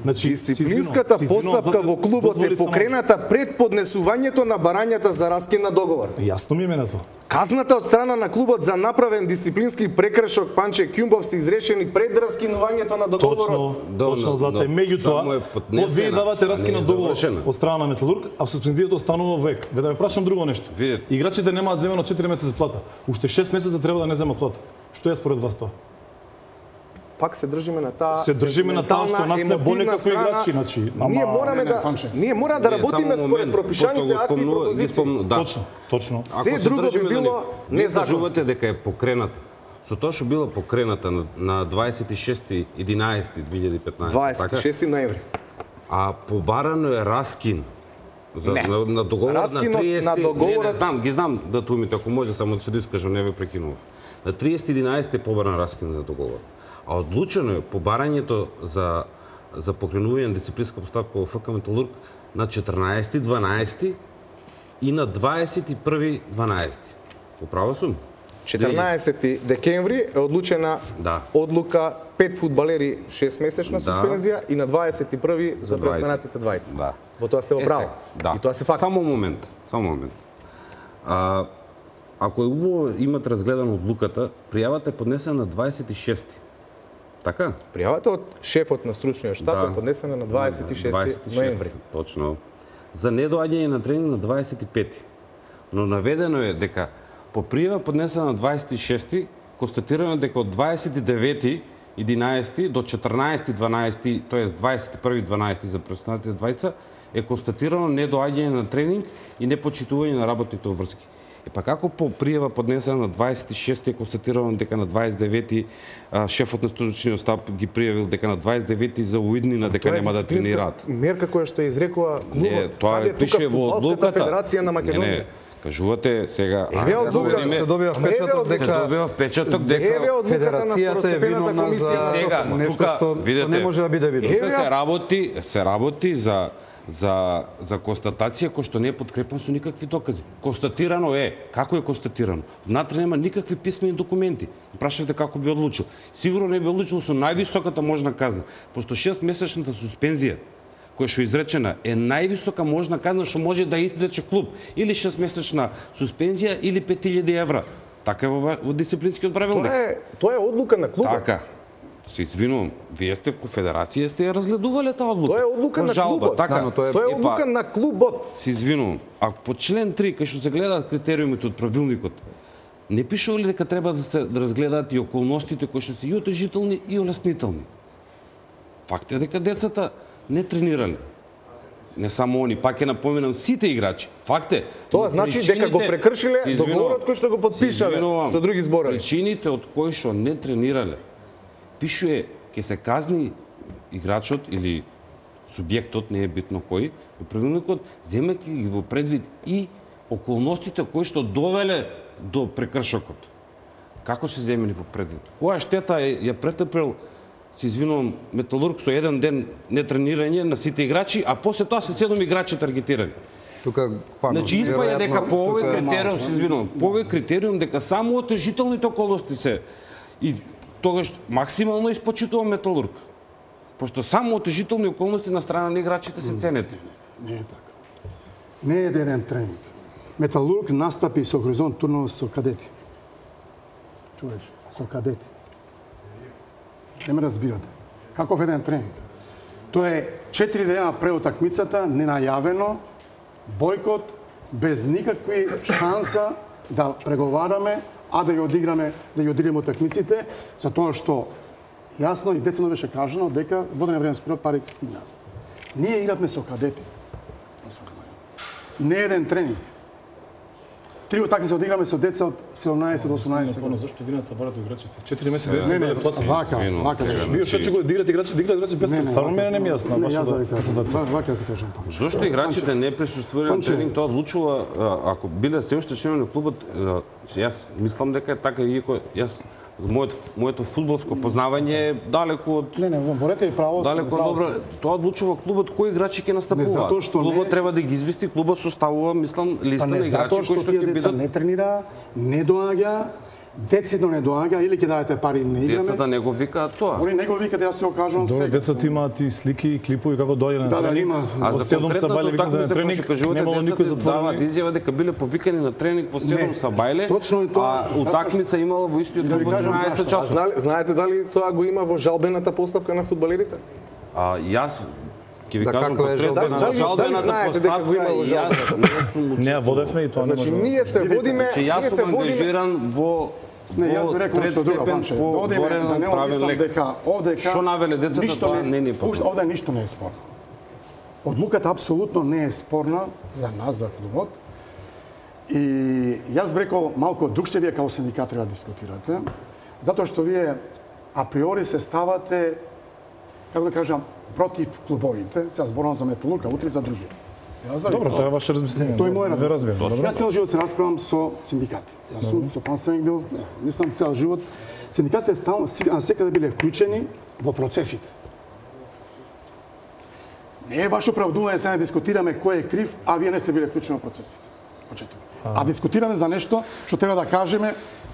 Значи, дисциплинската постапка во клубот е покрената пред поднесувањето на барањата за раскин на договор. Јасно ми е менето. Казната од страна на клубот за направен дисциплински прекршок Панче Ќумбов се изрешени пред раскинувањето на договорот. Точно, точно затоа. Меѓутоа, од вие давате раскин на договор од страна на Металург, а суспензијата останува век. Ве да ме прашам друго нешто. Играчите немаат земено четири месеци плата. Уште шест месеца треба да не земат плата. Што е според вас тоа? Пак се држиме на таа се држиме на таа што нас не боли како играчи, значи. Ние мораме да ние мора да работиме според пропишаните акти и пропозиции. Точно, точно. Се друго би било незаконско. Кажувате дека е покрената. Со тоа што била покрената на дваесет и шести единаесети две илјади и петнаесета, дваесет и шести ноември. А побарано е раскин за не. на, на договорот Раскинот на триесети. На договорот... Не, не знам, ги знам датумите, ако може само да се доискажам, не ве прекинував. На триесети единаесети е побаран раскин на договорот. А одлучено е побарањето за за покренување на дисциплинска постапка во ФК Металург на четрнаесети дванаесети и на дваесет и први дванаесети. Поправа сум? четрнаесети декември е одлучена да. Одлука пет фудбалери шест месечна суспензија да. И на дваесет и први за преостанатите двајца. Да. Во тоа сте во право. Да. И тоа се факт. Само момент, само момент. А, ако е убаво имате разгледано одлуката, пријавата е поднесена на дваесет и шести. Така? Пријавата од шефот на стручниот штаб да. Е поднесена на дваесет и шести ноември. Точно. За недоаѓање на тренинг на дваесет и пети. Но наведено е дека по пријава поднесена на дваесет и шести, констатирано дека од дваесет и девети единаесети до четрнаесети дванаесети, тоест дваесет и први дванаесети за преостанатите двајца, е констатирано недоаѓање на тренинг и непочитување на работните врски. Е па како по пријава поднесена на дваесет и шести е констатирано дека на дваесет и девети шефот на стручниот штаб ги пријавил дека на дваесет и девети за уиднина дека нема да тренираат. Мерка која што ја изрекува клубот. Не, тоа пише во одлуката. Федерација на Македонија. Не, не. Кажувате сега, еве одлука се добива впечаток дека се добива впечаток дека федерацијата е виновна за нешто што не може да биде видно. Тука се работи, се работи за за за констатација која што не е подкрепена со никакви докази. Констатирано е, како е констатирано? Внатре нема никакви писмени документи. Прашавте како би одлучил. Сигурно не би одлучил со највисоката можна казна, пошто шестмесечната суспензија која што изречена е највисока можна казна што може да изрече клуб, или шестмесечна суспензија или пет илјади евра. Така е во, во дисциплинскиот правилник. Тоа е тоа е одлука на клубот. Така. Се извинувам, вие сте ко федерација сте ја разгледувале таа одлука. Тоа е одлука на жалба, клубот. Така, да, тоа е, тоа е одлука па, на клубот. Се извинувам, а по член три кај што се гледаат критериумите од правилникот, не пишува ли дека треба да се разгледаат и околностите кои што се и отежителни и олеснителни? Факт е дека децата не тренирале. Не само они, пак ќе напоменам сите играчи. Факт е. Тоа значи дека го прекршиле договорот кој што го подпишале со други зборови. Причините од кои што не тренирале, пишува ќе се казни играчот или субјектот, не е битно кој, во правилникот, земајќи ги во предвид и околностите кои што довеле до прекршокот. Како се земени во предвид? Која штета е, ја претрпел, се извинувам, Металург со еден ден нетренирање на сите играчи, а после тоа се седум играчи таргетирани. Тука пано. Значи испаја дека по овој критериум, се извинувам, по овој критериум дека само отежителните околности се и тогаш максимално испочитува Металург. Пошто само отежителни околности на страна на играчите се ценете. Не, не е така. Не е еден тренинг. Металург настапи со Хоризонт турнов со кадети. Чуваш, со кадети. Не ме разбирате. Каков еден тренинг? Тоа е четири дена пред утакмицата, ненајавено, бојкот, без никакви шанса да преговараме, а да ја одиграме, да ја одиграме утакмиците, за тоа што јасно и децено беше кажано дека во даден временски период пари ќе стигнат. Ние игравме со кадети. Не еден тренинг. Три утакмици одиграме со деца од седумнаесет до осумнаесет години. Зошто вината барате играчите? четири месеци Не, не, вака, вака. Вие што ќе го диграте играчи, диграте играчи без стварно мене не ми јасно Не, вашата јас да ви кажам, презентација. вака да ти кажам. Зошто играчите не присуствуваат на тренинг, тоа одлучува ако биле се уште членови на клубот, јас мислам дека е така иако јас моето моето фудбалско познавање е далеку од Не, не, борете и право. далеку добро. Тоа одлучува клубот кои играчи ќе настапуваат. затоа што Клубот не- треба да ги извести, клубот составува, мислам, листа на Не, играчи затоа кои што што тие ќе деца бидат. не тренира, не доаѓа, децидно не доаѓа или ќе дадете пари не играме. Децата не го викаат тоа. Они не го викат, јас ти го кажувам Добро, сега. децата имаат и слики и клипови како доаѓа на Да, да, тренинг. има. А Во за седум конкретната сабајле викаат на утакмица, која тренинг, што кажувате, немало никој децата даваат затворени. изјава дека биле повикани на тренинг во седум Не, сабајле, точно е тоа. а утакмица имала во истиот Да ви клуб кажам тринаесет зашто. А часот. знали, знаете дали тоа го има во жалбената постапка на фудбалерите? А јас ќе ви Да, кажам како е конкретно жалбена- за дали- жалбената дали знаете дека го постапка има во и јас не сум Не, учествувал. водевме и тоа не Значи, може. ние се водиме, Значи ние јас се сум водиме ангажиран во Не, јас во би рекол трет што друго, степен Панче. по Да одиме, горен да не правен мислам лек. дека овдека Што навеле децата, ништо тоа не ни е познато. Овде ништо не е спорно. Одлуката апсолутно не е спорна за нас, за клубот. И јас би рекол малку другше вие како синдикат треба да дискутирате, затоа што вие априори се ставате, како да кажам, против клубовите, сега зборувам за Металург, а утре за други. Јас да ви Добро, кажам. тоа е ваше размислување. Тој е мој Ве разбирам. разбирам. Добро. Јас цел живот се расправам со синдикати. Јас сум стопанственик бил, не, не сум цел живот. Синдикатите стално секаде биле вклучени во процесите. Не е ваше оправдување сега да дискутираме кој е крив, а вие не сте биле вклучени во процесите. Почеток. А дискутираме за нешто што треба да кажеме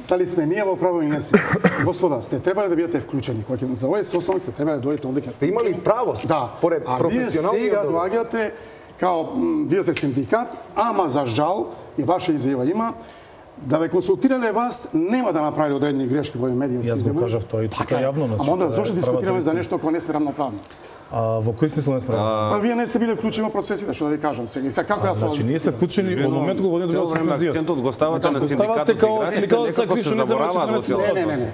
дали сме ние во право или не сме. Господа, сте требале да бидете вклучени. Кога ќе за овој составник сте требале да дојдете овде. Сте имали право, Да, поред а вие професионалниот сега договор. доаѓате као м, вие сте синдикат, ама за жал и ваша изјава има да ве консултирале вас нема да направи одредени грешки во медиите. Јас го кажав тоа и тука јавно, значи, Ама onda тоа е зошто дискутираме правата за нешто кога не сме рамноправни? А во кој смисла не сме? Па вие не сте биле вклучени во процесите, што да ви кажам сега. И сега како јас Значи ние се вклучени во моментот кога одите Цело да време суспензија. акцентот го ставате на Го ставате синдикатот као играчи, синдикатот са некако криви, се што не забораваат забораваат во во целото. Не, не, не, не.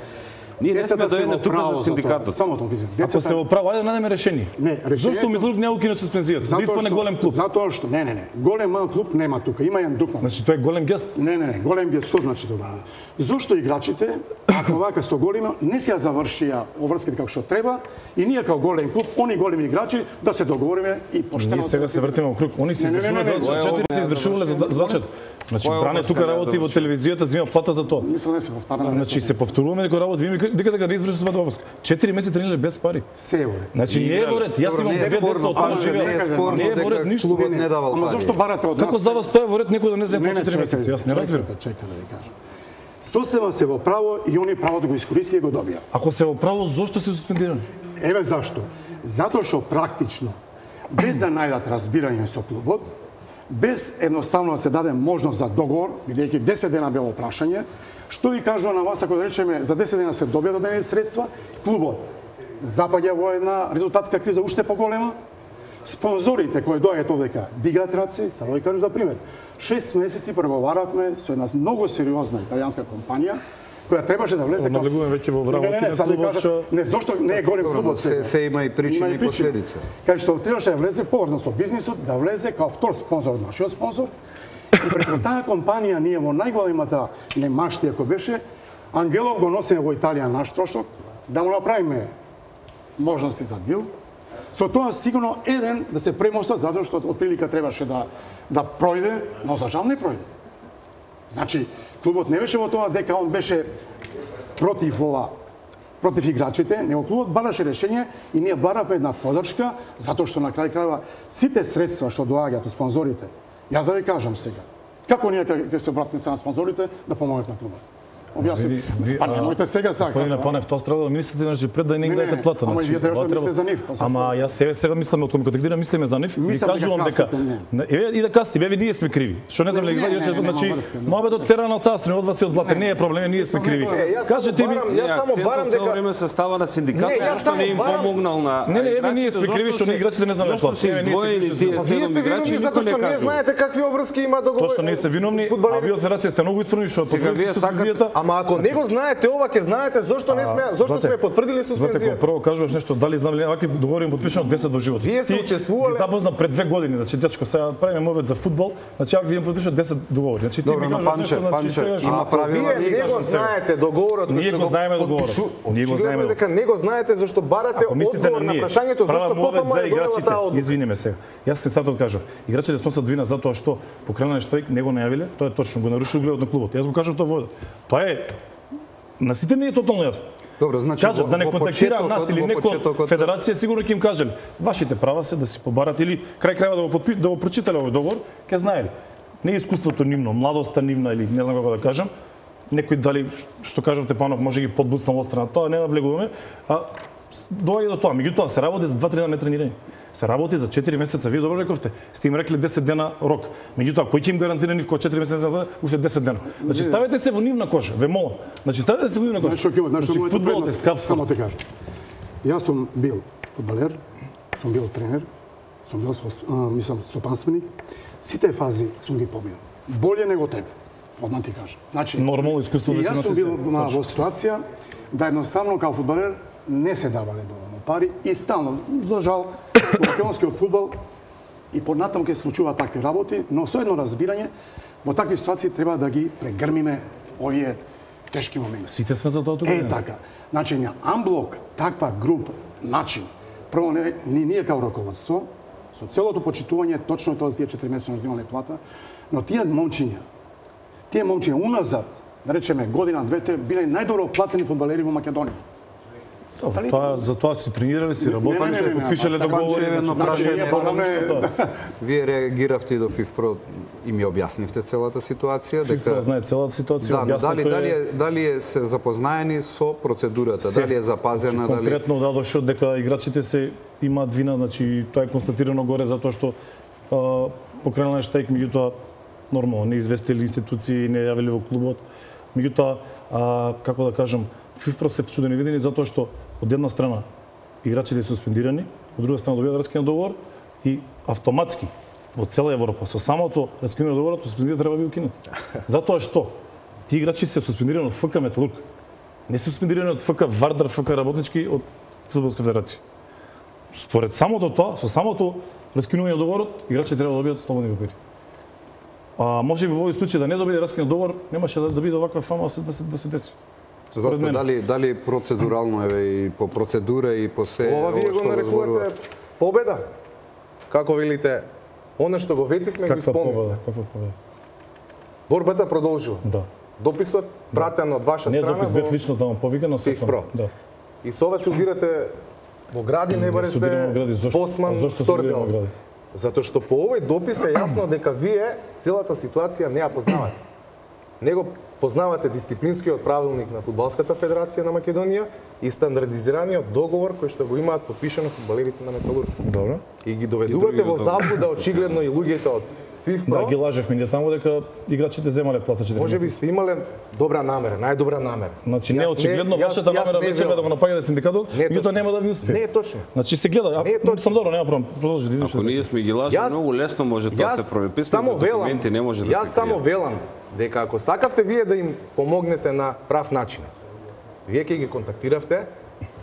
Ние не сме Децата се дојдени во тука право за тоа. синдикатот. Само тоа кажам. Ако се во право, ајде да најдеме решение. Не, решението- Зошто Митлук не укина суспензијата? Да испане голем клуб. Затоа што не, не, не. Голем мал клуб нема тука. Има еден дупан. Значи тоа е голем гест. Не, не, не, голем гест, што значи добро? Зошто играчите, ако вака со голема, не се ја завршија оврските како што треба, и ние како голем клуб, они големи играчи, да се договориме и поштено... Ние сега се вртиме во круг. Они се Не, не, не, извршувале не, за не, четири не, се не, извршувале за задачата. Значи Која Бране обврска тука не работи во заврши? телевизијата, зема плата за тоа. Мислам не се повтараме. Значи се повторуваме некој работи, вие ми дека дека не извршува довоз. четири месеци тренирале без пари. Се е во ред. Значи не е во ред. Јас Добро, имам не е две спорно, деца од ама таа не е живеат. спорно Не е во ред дека ништо. клубот не давал Ама пари. зошто барате од нас? Како за вас тоа е во ред некој да не земе Не, по не, четири месеци? Јас не разбирам. Чекайте, чекайте да ви кажам. Сосема се во право и они право да го искористи и го добија. Ако се во право, зошто се суспендирани? Еве зашто. Затоа што практично, без да најдат разбирање со клубот, без едноставно да се даде можност за договор, бидејќи десет дена било прашање, што ви кажува на вас ако да речеме за десет дена се добија додадени средства, клубот запаѓа во една резултатска криза уште поголема, спонзорите кои доаѓаат овдека дигат раци, само ви кажам за пример. шест месеци преговаравме со една многу сериозна италијанска компанија која требаше да влезе како... Наблегуваме веќе во Не, не, вработи не, на sad vi клубот, kažem, што... ne, зашто не е голем клубот се- сега. се има и причини и последици. Кај што требаше да влезе поврзан со бизнисот, да влезе као втор спонзор од нашиот спонзор. И преку таа компанија ние во најголемата немаштија кој беше, Ангелов го носиме во Италија наш трошок, да му направиме можности за дил. Со тоа сигурно еден да се премостат затоа што од прилика требаше да да пројде, но за жал не пројде. Значи, клубот не беше во тоа дека он беше против ова, против играчите, него клубот бараше решение и ние бараме една подршка, затоа што на крај крајва сите средства што доаѓаат од спонзорите, јас да ви кажам сега, како ние ќе се обратиме се на спонзорите да помогнат на клубот? Објасни. Ви- Па а, немојте сега сака. Господине Панев, тоа треба да мислите значи пред да не им Не, не, даете не. плата. Ама значи, вие требаше тоа да мислите за нив, па за Ама јас себе сега мислам од кога дирам мислиме за нив, ви Мислам дека кажувам дека касите, не. Не, еве и да касти, еве ние сме криви. Што не знам Не, ли не, не, рече, не, нема значи врска, не. мојот терен од таа страна од вас и од Злате не е проблем, ние сме криви. Е, јас само Кажете ми, барам, јас само барам Цело дека време се става на синдикат, Не, јас зашто само не им барам- помогнал на Не, не, еве ние играчите, сме криви зашто што се- играчите не знаат зашто плата. се Еве, ние сме издвоени криви што тие се- вие седум сте играчи, виновни никој затоа што не не кажува. знаете какви обврски има договор. Тоа што не се виновни, а Фудбалери- вие од федерација сте многу исправни што Сега вие потврдите сакате- суспензијата, Ама Ама ако не го знаете ова, ќе знаете зошто не сме, зошто сме потврдили суспензија. Знаете, прво кажуваш нешто, дали знам ли вакви договори подпишано десет во живот. Вие сте учествувале. Ти запозна пред две години, значи дечко, сега правиме мовет за фудбал, значи ако вие подпишано десет договори. Значи ти ми кажуваш нешто, значи сега има правила, вие не го знаете договорот кој што го подпишу. Ние го знаеме. Дека не го знаете зашто барате одговор на прашањето зашто ФФМ е донела таа одлука. Извини ме сега. Јас се статот кажав. Играчите сносат вина затоа што покренален штрайк не го најавиле, тоа е точно, го нарушил угледот на клубот. Јас го кажав тоа во. Тоа е на сите не е тотално јасно. Добро, значи кажат да не контактира нас или некоја федерација, сигурно ќе им кажеле вашите права се да си побарате или крај крајва да го подпи, да го прочитале овој договор, ќе знаеле. Не искуството нивно, младоста нивна или не знам како да кажам. Некој дали што кажавте Панов може ги подбуцнал од страна, тоа не навлегуваме, а доаѓа до тоа. Меѓутоа се работи за два-три дена нетренирање. Се работи за четири месеца. Вие добро рековте. Сте им рекле десет дена рок. Меѓутоа кој ќе им гарантира нив кога четири месеца уште десет дена. Значи ставете се во нивна кожа, ве молам. Значи ставете се во нивна кожа. Знаеш што ќе значи фудбалот е скап. Само те кажам. Јас сум бил фудбалер, сум бил тренер, сум бил мислам стопанственик. Сите фази сум ги победил. Боле него тебе. Одма ти кажам. Значи нормално искуство да се носи. Јас сум бил во ситуација да едноставно као фудбалер не се давале доволно пари и стално, за жал, во македонскиот фудбал и понатаму ќе се случува такви работи, но со едно разбирање, во такви ситуации треба да ги прегрмиме овие тешки моменти. Сите сме за тоа тука. Е, така. Значи, на амблок, таква група, начин, прво не, ни ние као раководство, со целото почитување, точно тоа тие четири месеци земале плата, но тие момчиња, тие момчиња уназад, да речеме година, две-три, биле најдобро платени фудбалери во Македонија. Дали... Тоа за тоа си тренирале, си работеле, се подпишале договори, едно прашање. Вие реагиравте и до ФИФПРО и ми објаснивте целата ситуација, дека ФИФПРО знае целата ситуација, да, дали дали е дали е се запознаени со процедурата, се, дали е запазена, дали конкретно да дошло дека играчите се имаат вина, значи тоа е констатирано горе затоа што покренален штајк, меѓутоа нормално не известили институции, не јавили во клубот. Меѓутоа, како да кажам, ФИФПРО се чудени видени затоа што од една страна играчите се суспендирани, од друга страна добијаат раскинат договор и автоматски во цела Европа со самото раскинување договорот суспензијата треба да биде укинета. Затоа што тие играчи се суспендирани од ФК Металург, не се суспендирани од ФК Вардар, ФК Работнички, од Фудбалска федерација. Според самото тоа, со самото раскинување договорот, играчите треба да добијат слободни папири. А може би во овој случај да не добие раскинат договор, немаше да, да биде оваква фама да се да се, да се деси. Зато дали дали процедурално еве и по процедура и по се ова вие го нарекувате победа. Како велите, она што го ветивме го исполнивме. Каква победа? Борбата продолжува. Да. Дописот пратен од ваша не, страна. Не, допис бев лично таму повикано со ФИФПРО. Да. И со ова се удирате во гради, не барете Босман, втор дел. Затоа што по овој допис е јасно дека вие целата ситуација не ја познавате. Него познавате дисциплинскиот правилник на Фудбалската федерација на Македонија и стандардизираниот договор кој што го имаат подпишано фудбалерите на Металург. Добро. И ги доведувате во заблуда очигледно и луѓето од ФИФПРО. Да, ги лажевме, не само дека играчите земале плата четири Може би сте имале добра намера, најдобра намера. Значи не очигледно вашата намера веќе да го напаѓате синдикатот, меѓутоа нема да ви успее. Не е точно. Значи се гледа, а сам добро, нема проблем. Продолжи да извиниш. Ако ние сме ги лажи, многу лесно може тоа се прови. Само велам, не може да јас само велам дека ако сакавте вие да им помогнете на прав начин, вие ќе ги контактиравте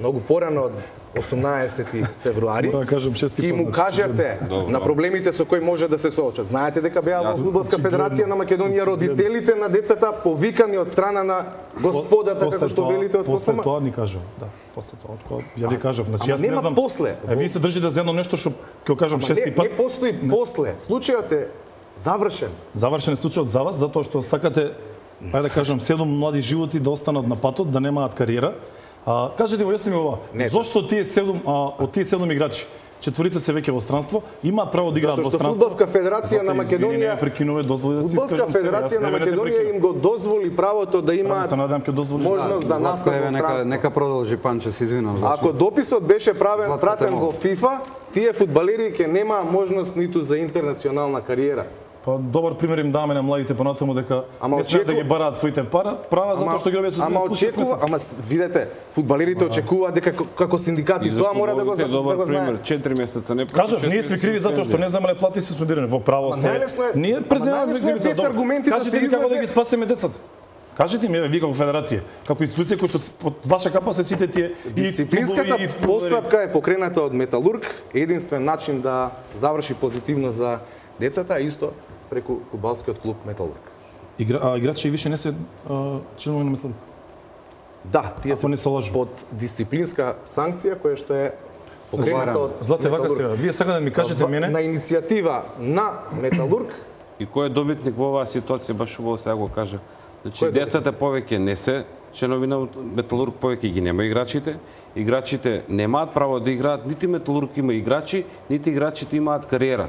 многу порано од осумнаесети февруари и му кажавте на проблемите со кои може да се соочат. Знаете дека беа во Фудбалска федерација на Македонија родителите на децата повикани од страна на господата, како што велите од ФФМ. После тоа ни кажав, да. После тоа, ја ви кажав, значи јас не знам. После. А вие се држите за едно нешто што ќе кажам шести пат. Не постои после. Случајот е завршен. Завршен случајот за вас затоа што сакате, ајде да кажам, седум млади животи да останат на патот, да немаат кариера. А, кажете го, јасне ми ова. Не, зошто тие седум а, од тие седум играчи, четворица се веќе во странство, имаат право да играат во странство? Фудбалска федерација на Македонија, прекинуве дозволи да се Фудбалска федерација на Македонија им го дозволи правото да имаат можност да настанат во странство. Нека продолжи Панче, се извинувам. Ако дописот беше правен пратен во ФИФА, тие фудбалери ќе немаа можност ниту за интернационална кариера. Па добар пример им даваме на младите понатаму дека не смеат да ги бараат своите пара, права затоа што ги објаат со ама очекува, ама видете, фудбалерите очекуваат дека како синдикати тоа мора да го да го знаат. четири месеца не кажав, ние сме криви затоа што не земале плати суспендирани во право сте. Ние преземаме кривица. Кажете ни како да ги спасиме децата. Кажете ми, еве, вие како федерација, како институција која што под ваша капа се сите тие дисциплинската и постапка е покрената од Металург, единствен начин да заврши позитивно за децата, а исто преку фудбалскиот клуб Металург. Игра, а играчи више не се а, членови на Металург. Да, тие се не се лажу. под дисциплинска санкција која што е покрената од Злате, вака Металург. сега, вие сега да ми кажете мене на иницијатива на Металург. И кој е добитник во оваа ситуација, баш убаво сега го кажа. Значи, Кој е децата повеќе не се членови на Металург, повеќе ги нема играчите. Играчите немаат право да играат, нити Металург има играчи, нити играчите имаат кариера.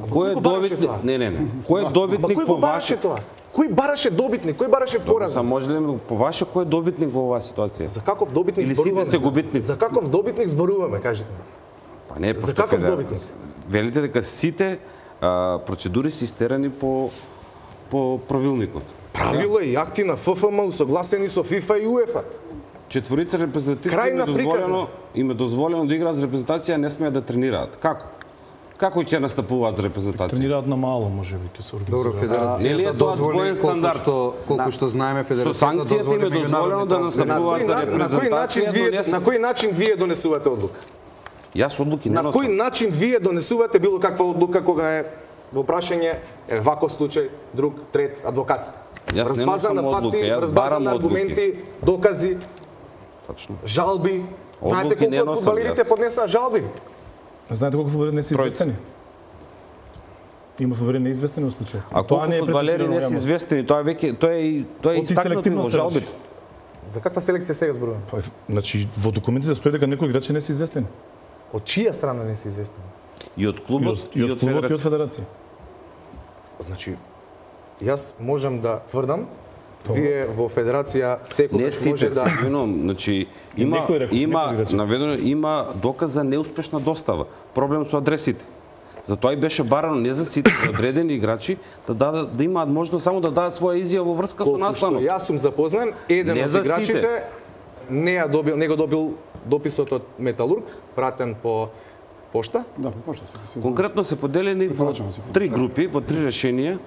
Кој е добитник? Не, не, не. Кој е добитник по ваше? тоа? Кој бараше добитник? Кој бараше пораз? Са може ли по ваше кој е добитник во оваа ситуација? За каков добитник Или зборуваме? сите се губитници? За каков добитник зборуваме, кажете? Па не, За пошто каков федер- добитник? Велите дека сите а, процедури се истерани по по правилникот. Правила и акти на Ф Ф М усогласени со ФИФА и УЕФА. Четворица репрезентативци им Крајна е дозволено, им е дозволено да играат за репрезентација, не смеат да тренираат. Како? Како ќе настапуваат за репрезентација? тренираат на мало, можеби ќе се Добро, организираат. Нели е федерацијата тоа дозволи двоен колку стандард? што колку што знаеме Со федерацијата санкцијата им е дозволи дозволено да меѓународни На настапуваат кој, за на, на кој начин репрезентација, вие но не се- на кој начин вие донесувате одлука? Јас одлуки не На носам. кој начин вие донесувате било каква одлука кога е во прашање е ваков случај, друг, трет, адвокатство? Јас не Разбазан на носам одлука, факти, јас разбазан барам на одлуки. аргументи, докази, Точно. жалби. Знаете Одлуки не колку од носам фудбалерите јас. поднесаа жалби? Знаете колку фудбалери не се Тројца. известени? Има фудбалери неизвестени во случај. А колку не е фудбалери пресетирано не се јавност. известени, тоа веќе тоа е тоа е Оти истакнато селективно во се жалбите. речи. За каква селекција сега зборуваме? Па, значи, во документите стои дека некои играчи не се известени. Од чија страна не се известени? И од И клубот, од, и од клубот и од федерација. Значи, јас можам да тврдам, вие во федерација секогаш Не сите, може да... свином, значи има некој рекол, има некој играчи. наведено има доказ за неуспешна достава. Проблем со адресите. Затоа и беше барано не за сите за одредени играчи да дадат да имаат можност само да дадат своја изјава во врска со Колку што настанот. јас сум запознан, еден Не од за играчите сите. не ја добил, не го добил дописот од Металург, пратен по пошта. Да, по пошта се се. Конкретно се поделени во Препорачано се. три групи, во три решенија.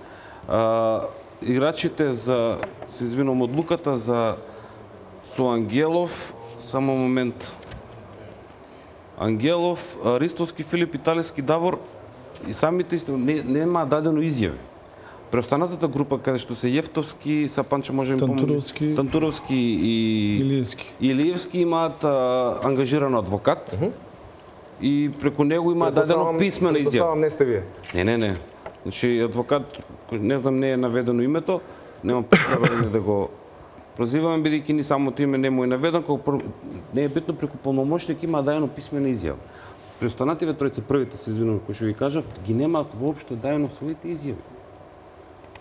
А, играчите за се извинувам одлуката за со Ангелов, само момент. Ангелов, Ристовски, Филип, Италиски, Давор и самите исто не нема дадено изјави. Преостанатата група каде што се Јефтовски, Сапанче може да ми Тантуровски. помогне, Тантуровски и Илиевски. Илиевски имаат а, ангажиран адвокат. И преку него има дадено Предпоставам- писмена изјава. предпоставам не сте вие. Не, не, не. Значи адвокат, не знам не е наведено името, немам потреба да го прозиваме бидејќи ни самото име не му е наведено, како пр... не е битно преку полномошник има дадено писмена изјава. При останативе тројца првите се извинувам кои што ви кажав, ги немаат воопшто дадено своите изјави.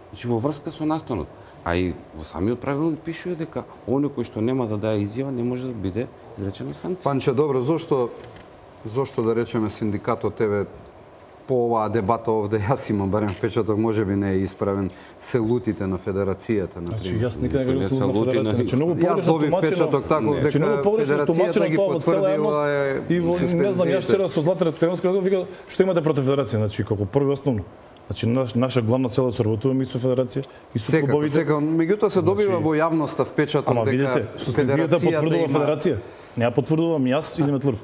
Значи во врска со настанот. А и во самиот правилник пишува дека оној кој што нема да даде изјава не може да биде изречена санкција. Панче, добро, зошто зошто да речеме синдикатот еве по оваа дебата овде јас имам барем впечаток, можеби не е исправен, се лутите на федерацијата на Значи, пример. јас никаде не Не го се слушам лути на федерација. Значи, многу Јас погрешно добив тумачено- впечаток таков Не. дека Значи, многу погрешно федерацијата тумачено ги тоа во цела потврдила јавност. е И во, не знам, јас вчера со Златар Стевански разговор вика што имате против федерација, значи како прво и основно. Значи наш, наша главна цел е да соработуваме и со федерација и со Секако, клубовите. секако, меѓутоа се добива Значи, во јавноста впечаток Ама дека видите, суспензијата потврдува има- федерација. Не ја потврдувам јас или Металург.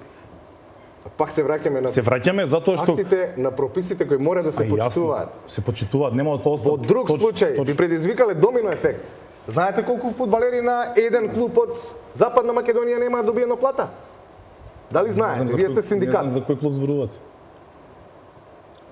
Пак се враќаме на Се враќаме затоа што актите на прописите кои мора да се А, јасно, почитуваат. Се почитуваат, нема тоа Во друг случај би предизвикале домино ефект. Знаете колку фудбалери на еден клуб од Западна Македонија немаат добиено плата? Дали знаете? Вие сте Не синдикат. знам за кој клуб зборувате.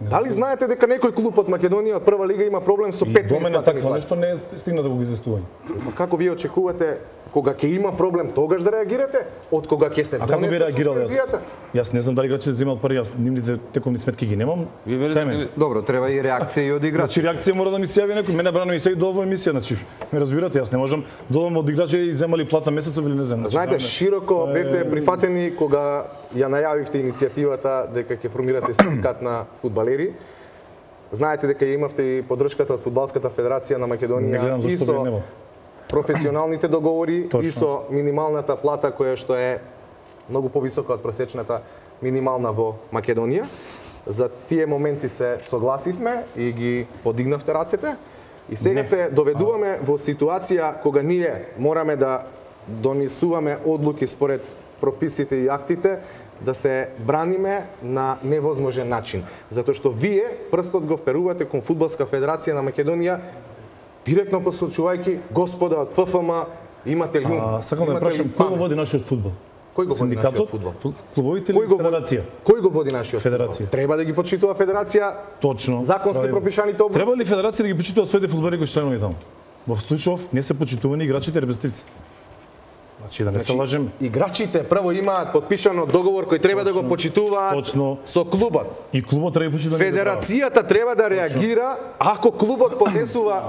Дали знаете дека некој клуб од Македонија од прва лига има проблем со И пет до мене неисплатени такво плати? нешто не е стигна да го изискување. Ма како вие очекувате кога ќе има проблем тогаш да реагирате, од кога ќе се А како би донесе реагирал јас? суспензијата? Јас не знам дали играчите земаат пари, јас нивните тековни сметки ги немам. Ви велите Дај ме. дека- Добро, треба и реакција и од играчи. Значи реакција мора да ми се јави некој. Мене брано ми се и до оваа емисија, значи ме разбирате, јас не можам додам од играчи и земали плата месецов или не знам. Значи, Знаете, знаме. широко бевте прифатени кога ја најавивте иницијативата дека ќе формирате синдикат на фудбалери. Знаете дека ја имавте и поддршката од Фудбалската федерација на Не Македонија гледам и зашто би нема. професионалните договори Точно. и со минималната плата која што е многу повисока од просечната минимална во Македонија. За тие моменти се согласивме и ги подигнавте рацете. И сега Не. се доведуваме во ситуација кога ние мораме да донесуваме одлуки според прописите и актите, да се браниме на невозможен начин. Затоа што вие прстот го вперувате кон Фудбалска федерација на Македонија, директно посочувајќи господа од Ф Ф М, имате ли ум? А, сакам да имате прашам ли кој го памет? води нашиот фудбал? Кој го води нашиот фудбал? Клубовите Кој или го води- федерација? Кој го води нашиот Федерација. фудбал? Треба да ги почитува федерација Точно. законски Правилно. пропишаните области. Треба ли федерација да ги почитува своите фудбалери кои членови таму? Во случајов не се почитувани играчите и репрезентативци. Значи да не се лажеме. Играчите прво имаат подпишано договор кој треба да го почитуваат точно. со клубот. И клубот треба да почитува. Федерацијата треба да реагира ако клубот поднесува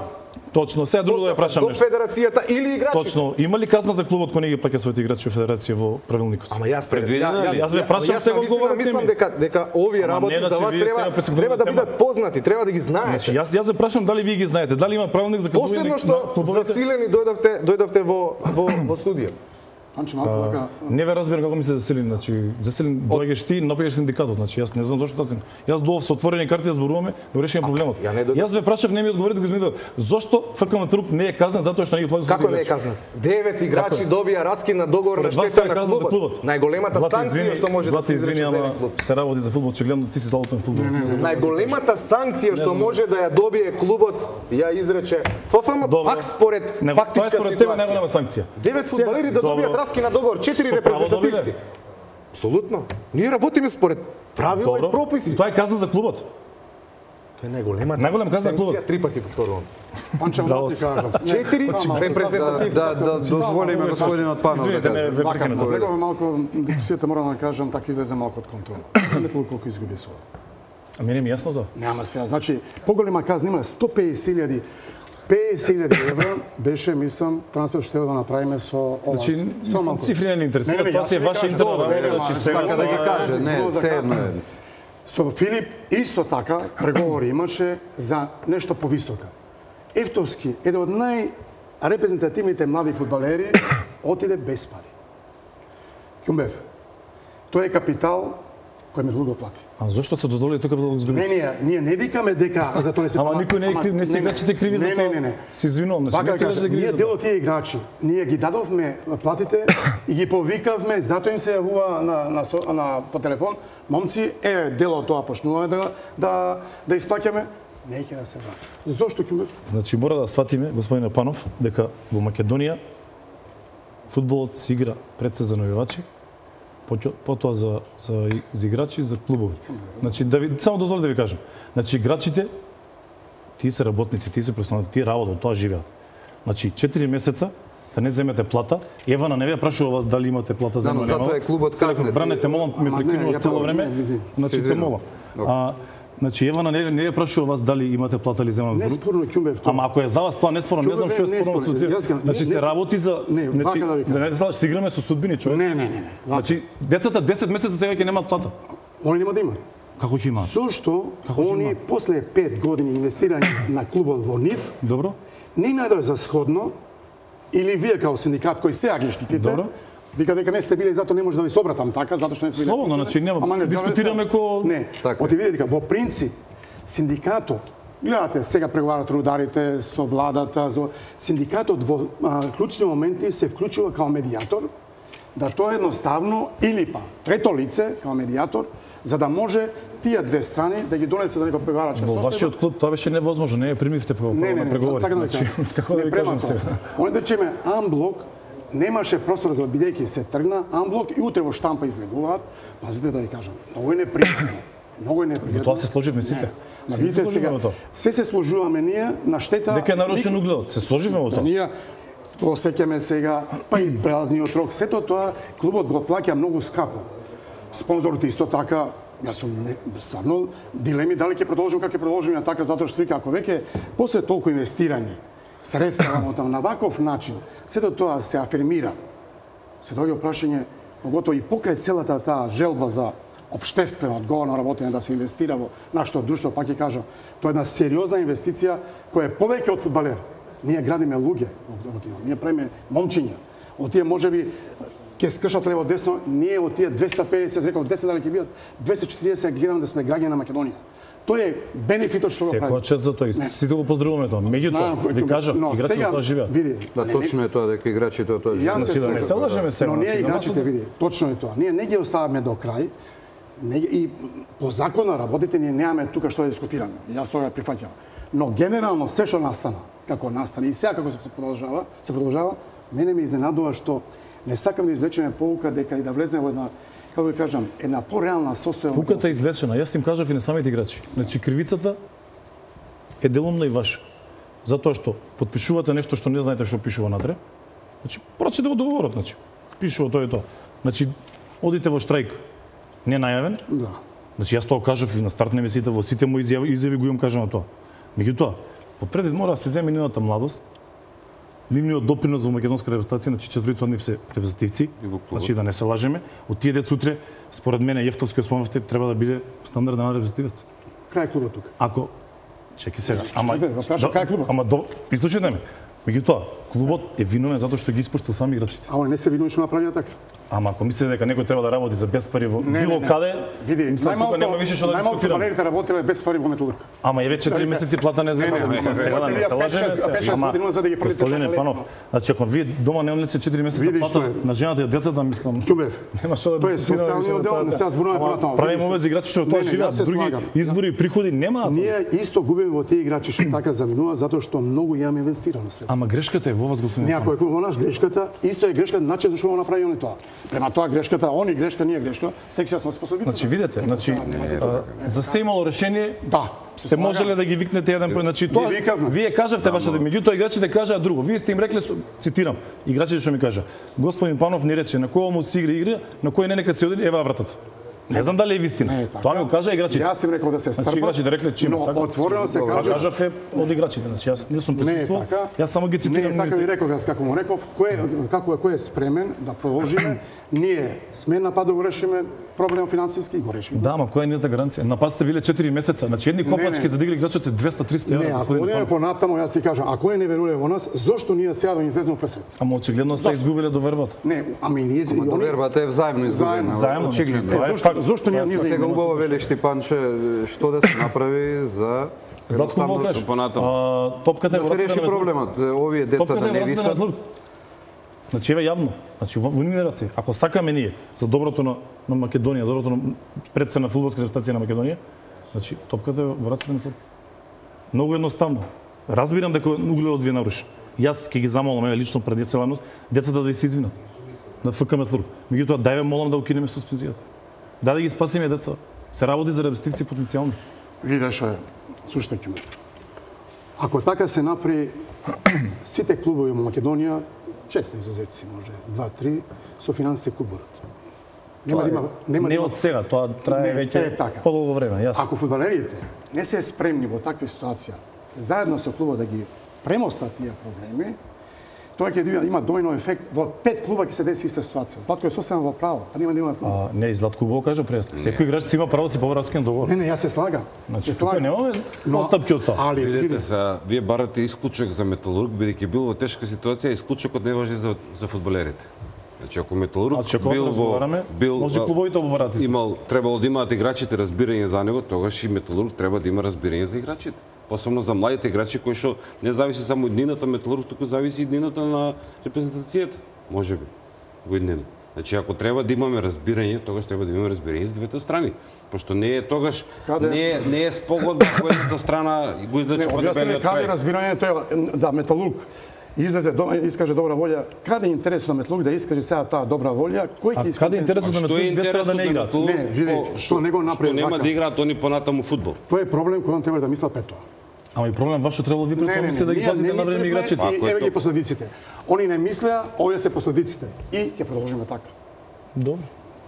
Точно. Сега друго да ја прашам до нешто. федерацијата или играчите. Точно. Има ли казна за клубот кој не ги плаќа своите играчи во федерација во правилникот? Ама јас Предвидено ја- ли? Јас ве прашам, јас сега навистина одговорете мислам ми. дека дека овие Ама работи не, за значи, вас вие треба сега пристигнувате треба да тема. бидат познати, треба да ги знаете. Значи јас јас ве прашам дали вие ги знаете, дали има правилник за казување Посебно на што клубовите? засилени дојдовте дојдовте во во во студија. Панче, малку вака, Не ве разбирам како ми се заселин, значи заселин доаѓаш ти, напаѓаш синдикатот, значи јас не знам зошто тасен. Јас доов со отворени карти да зборуваме, да решиме проблемот. ја не дојдов. Јас ве прашав, не ми одговори да го измидов. Зошто ФК Труп не е казнен затоа што не ги плати Како не е казнат? Девет играчи добија раскин на договор на Според вас штета тоа е на казна за клубот. клубот. Најголемата Злате, санкција извини, што може да Злате, се извини, изрече за ама еден клуб. се работи за фудбал, очигледно ти си златен фудбал. Најголемата санкција што знам. може да ја добие клубот ја изрече Ф Ф М Добро. пак според Не, фактичка тоа е според тебе ситуација. најголема санкција. Девет Сега- фудбалери да Добро. добијат раски на договор, четири Со право репрезентативци. добиле. Апсолутно. Ние работиме според правила Добро. и прописи. И тоа е казна за клубот. Тоа е најголемата Најголема казна на клубот. санкција, три пати повторувам. Панче, Браво малку ти си. кажам. Не, Четири само малку, репрезентативци. Да, да, дозволиме господинот Панов да Извинете, не каже. ве Вака, прекинав. напрегуваме малку дискусијата, морам да кажам, така излезе малку од контрола. Знаете ли колку изгуби со ова? А мене ми е јасно тоа. Нема сега, значи, поголема казна има сто пеесет илјади пеесет илјади евра беше, мислам, трансфер што треба да направиме со ова. Значи, Само мислам, малку. цифри не ни интересираат, Не, не, тоа јас си е ви ваша кажам, интерна добро, работа, не, значи ма, сега сакам Сака да ги тоа- каже, не, да се едно кажам. е. Со Филип исто така преговори имаше за нешто повисока. Евтовски, еден од најрепрезентативните млади фудбалери, отиде без пари. Ќумбев, тој е капитал кој ме го плати. А зошто се дозволи тука да го изгуби? Не, ние, ние не викаме дека за тоа не се Ама тоа- никој не е ама- крив, не се играчите криви за не, тоа. Не, не, не. Се извинувам, значи Вака не се кажа, играчите криви ние за дел тоа. од тие играчи, ние ги дадовме платите и ги повикавме, затоа им се јавува на, на, со- на, по телефон, момци, е, дел од тоа почнуваме да, да, да исплаќаме, не ќе да се врати. Зошто ќе Значи мора да сватиме, господине Панов, дека во Македонија фудбалот се игра пред се за навивачи, поќе- потоа за, за, за играчи, за клубови. Значи, да ви, само дозволи да ви кажам. Значи, играчите, тие се работници, тие се професионални, тие работат, тоа живеат. Значи, четири месеца да не земете плата. Евана не ве прашува вас дали имате плата за Да, но нема. затоа е клубот казнет. Бранете, молам, ме Ама не, прекинуваш ја цело правам, време. не, не. Значи, Се те извинувам. молам. А, значи, Евана не, не ве прашува вас дали имате плата или земам Не друг. спорно Ќумбев тоа. Ама ако е за вас тоа неспорно, не знам што е Не, не спорно со спорно. Јас цифра. га- Значи не, се не. работи за Не, значи вака да ви кажам. да не знам, ще играме со судбини човек. Не, не, не, не. Вака. Значи децата десет месеца сега ќе немаат плата. Они нема да имат. Како ќе имаат? Зошто ќе они после пет години инвестирање на клубот во нив, Добро? не најдоа за сходно, или вие као синдикат кој сега ги штитите, Добро. вика дека не сте биле, затоа не може да ви се обратам така, затоа што не сте биле. Слободно, вклучени. значи, нема- Ама не, дискутираме сега- ко- Не, Така е. оти видите дека во принцип синдикатот, гледате, сега преговарат рударите со владата, со синдикатот во а, клучни моменти се вклучува као медијатор, да тоа едноставно или па трето лице као медијатор, за да може тие две страни да ги донесе до некој преговарачки Во состојба. вашиот клуб тоа беше невозможно, не ја примивте по Не, не, на не, преговори. сакам да ви Значи, кажам. како да Не ви према кажам тоа. сега? Он да речеме Амблок немаше простор за бидејќи се тргна Амблок и утре во штампа излегуваат. Пазите да ви кажам, многу е непријатно. Многу е непријатно. Во тоа се сложивме сите. Не. Ма Сите видите се сега, сложивме во тоа. се се сложуваме ние на штета. Дека е нарушен угледот. Се сложивме во Да, тоа. ние го сеќаме сега, па и прелазниот рок. Сето тоа клубот го плаќа многу скапо. Спонзорите исто така, јас сум не, стварно дилеми дали ќе продолжим како ќе продолжим на така, затоа што вика ако веќе после толку инвестирање средства во таму на ваков начин, сето тоа се афирмира. Се доаѓа прашање, поготово и покрај целата таа желба за општествено одговорно работење да се инвестира во нашето друштво, пак ќе кажам, тоа е една сериозна инвестиција која е повеќе од фудбалер. Ние градиме луѓе, во тие, ние правиме момчиња. Од тие можеби ќе скршат лево десно, ние од тие двесте педесет, реков десет дали ќе бидат двесте и четириесет, гледам да сме граѓани на Македонија. Тој е бенефитот што го прави. Секоја чест за тој. Сите го поздравуваме тоа. Меѓутоа, ви кажав, играчите тоа живеат. Види, Да, точно е тоа дека играчите од тоа живеат. Јас се да не се лажеме сега. Но ние значи, играчите, види, точно е тоа. Ние не ги оставаме до крај. Не, и по закон на работите ние немаме тука што да дискутираме. Јас тоа го прифаќам. Но генерално се што настана, како настана и сега како се продолжава, се продолжава, мене ме изненадува што не сакам да извлечеме поука дека и да влеземе во една, како да кажам, една пореална состојба. Пуката е извлечена. Јас им кажав и на самите играчи. Значи кривицата е делумна и ваша. Затоа што потпишувате нешто што не знаете што пишува натре. Значи прочитате го договорот, значи. Пишува тоа и тоа. Значи одите во штрајк не најавен. Да. Значи јас тоа кажав и на старт на емисијата, во сите мои изјави, изјави го имам кажано тоа. Меѓутоа, во предвид мора да се земе нивната младост, нивниот допринос во македонска репрезентација, значи четворица од нив се репрезентативци, значи да не се лажеме, од тие деца утре, според мене Јефтовски спомнавте, треба да биде стандарден репрезентативец. Крај клубот тука. Ако чеки сега, ама Чекай, праша, кај е клубот? Ама до изслушајте ме. Меѓутоа, клубот е виновен затоа што ги испуштил сами играчите. А они не се виновни што направија така. Ама ако мислите дека некој треба да работи за без пари во Не, било не, не. каде, Види, мислам, тука нема више што да најмалку дискутираме. фудбалерите работеле без пари во Металург. Ама е веќе четири месеци плата не Не, не, земава. не, Мислам, не, сега да не не, се пет, лажеме. шест, се. пет, шест Ама, години за да ги првите Господине така Панов, лесно. значи ако вие дома не онлете четири месеца Види што плата е. на жената и децата, мислам. Ќубев. Нема што да Тоа е дискутираме социјалниот више дел, за не тоа. се зборуваме Ама понатаму. Правиме Видиш. овие играчи што Не, тоа не, живеат, јас се други слагам. извори приходи нема. Ние исто губиме во тие играчи што така заминува затоа што многу имаме инвестирано средства. Ама грешката е во вас, господин Некој е во нас грешката, исто е грешка начин зашто го направи они тоа. Према тоа грешката, они грешка, ние грешка, секси сме способници. Значи видете, значи а, за се имало решение. Да. Сте можеле да ги викнете еден по значи тоа. викавме. Вие кажавте вашата, меѓутоа играчите кажаа друго. Вие сте им рекле, цитирам, играчите што ми кажа. Господин Панов ни рече на кој му се игра игра, на кој не нека се оди, ева вратата. Не знам дали е вистина. Не е така. Тоа ми го кажа играчите. Јас им рекол да се Значи стрпат. играчите рекле че има но така. отворено се Тоа каже. кажав е од играчите. Значи јас не сум Не е присуствувал. така. Јас само ги Не цитирам. е така ви реков јас како му реков, кој како е кој е спремен да продолжиме. Ние сме на пат да го решиме проблем финансиски, го решиме. Да, ама која е нијата гаранција? На пат сте биле четири месеца. Значи едни копачки не. за да игра играчот се двеста триста Не, евра, ако господин одиме Панов. понатаму, јас ти кажам, ако е не верувале во нас, зошто ние сега да ги излеземе пред свет? Ама очигледно сте изгубиле довербата. Не, ами ние и они- Довербата е взаимно изгубена. Заедно, значи, очигледно. тоа е Зошто- факт. зошто ние ние Сега убаво велиш ти, Панче, што да се направи за Златко едноставно Молкаш, понатаму. а, топката е да во се рацете реши на проблемот. Овие деца Топката да е не во рацете на висат. Металург. Значи еве јавно, значи во во нивни раци. Ако сакаме ние за доброто на, на Македонија, доброто на предсена фудбалска репрезентација на Македонија, значи топката е во рацете на Металург. Многу едноставно. Разбирам дека угледот ви е нарушен. Јас ќе ги замолам еве лично пред целаност децата да ви се извинат на ФК Металург. Меѓутоа дај ве молам да укинеме суспензијата. Да да ги спасиме деца. Се работи за репрезентативци потенцијални. Виде што е, слушајте ме. Ако така се направи, сите клубови во Македонија, често изузеци може, два-три, со финансите куборат. Нема да има, нема да Не има- од сега, тоа трае Не, веќе е така. подолго време, јасно. Ако фудбалерите не се спремни во такви ситуација, заедно со клубот да ги премостат тие проблеми, тоа ќе да има домино ефект. Во пет клуба ќе се деси иста ситуација. Златко е сосема во право, а нема да има клуб. А, не, Златко го кажа прес. Секој играч си има право да си побара раскин договор. Не, не, јас се слагам. Значи, се тука слагам. немаме Но- постапки од тоа. Али, види, Видете се, вие барате исклучок за Металург, бидејќи бил во тешка ситуација, исклучокот не важи за за фудбалерите. Значи ако Металург Значи, ако бил во разговараме, бил може а, клубовите оборат исто. имал требало да имаат играчите разбирање за него, тогаш и Металург треба да има разбирање за играчите. Посебно за младите играчи кои што не зависи само од иднината Металург, туку зависи и иднината на репрезентацијата, можеби во иднина. Значи ако треба да имаме разбирање, тогаш треба да имаме разбирање за двете страни, пошто не е тогаш Каде- не е не е спогодба која едната страна го не, излече по објасни дебелиот каде крај. разбирањето е да Металург излезе, до- искаже добра волја. Каде е интересот на Металург да искаже сега таа добра волја? Кој А ќе искаже? каде е интересот на Што е Металург деца интересот да не на играат? Металург? Не, види, По- што не го направи Што нема вака. да играат они понатаму фудбал. Тоа е проблем кој он треба да мислат пред тоа. Ама и проблем ваш што требало ви пред тоа мислите да ги ние платите на време мислевме играчите. И Ако е еве ги тоа. последиците. Они не мислеа, овие се последиците. И ќе продолжиме така. Добро.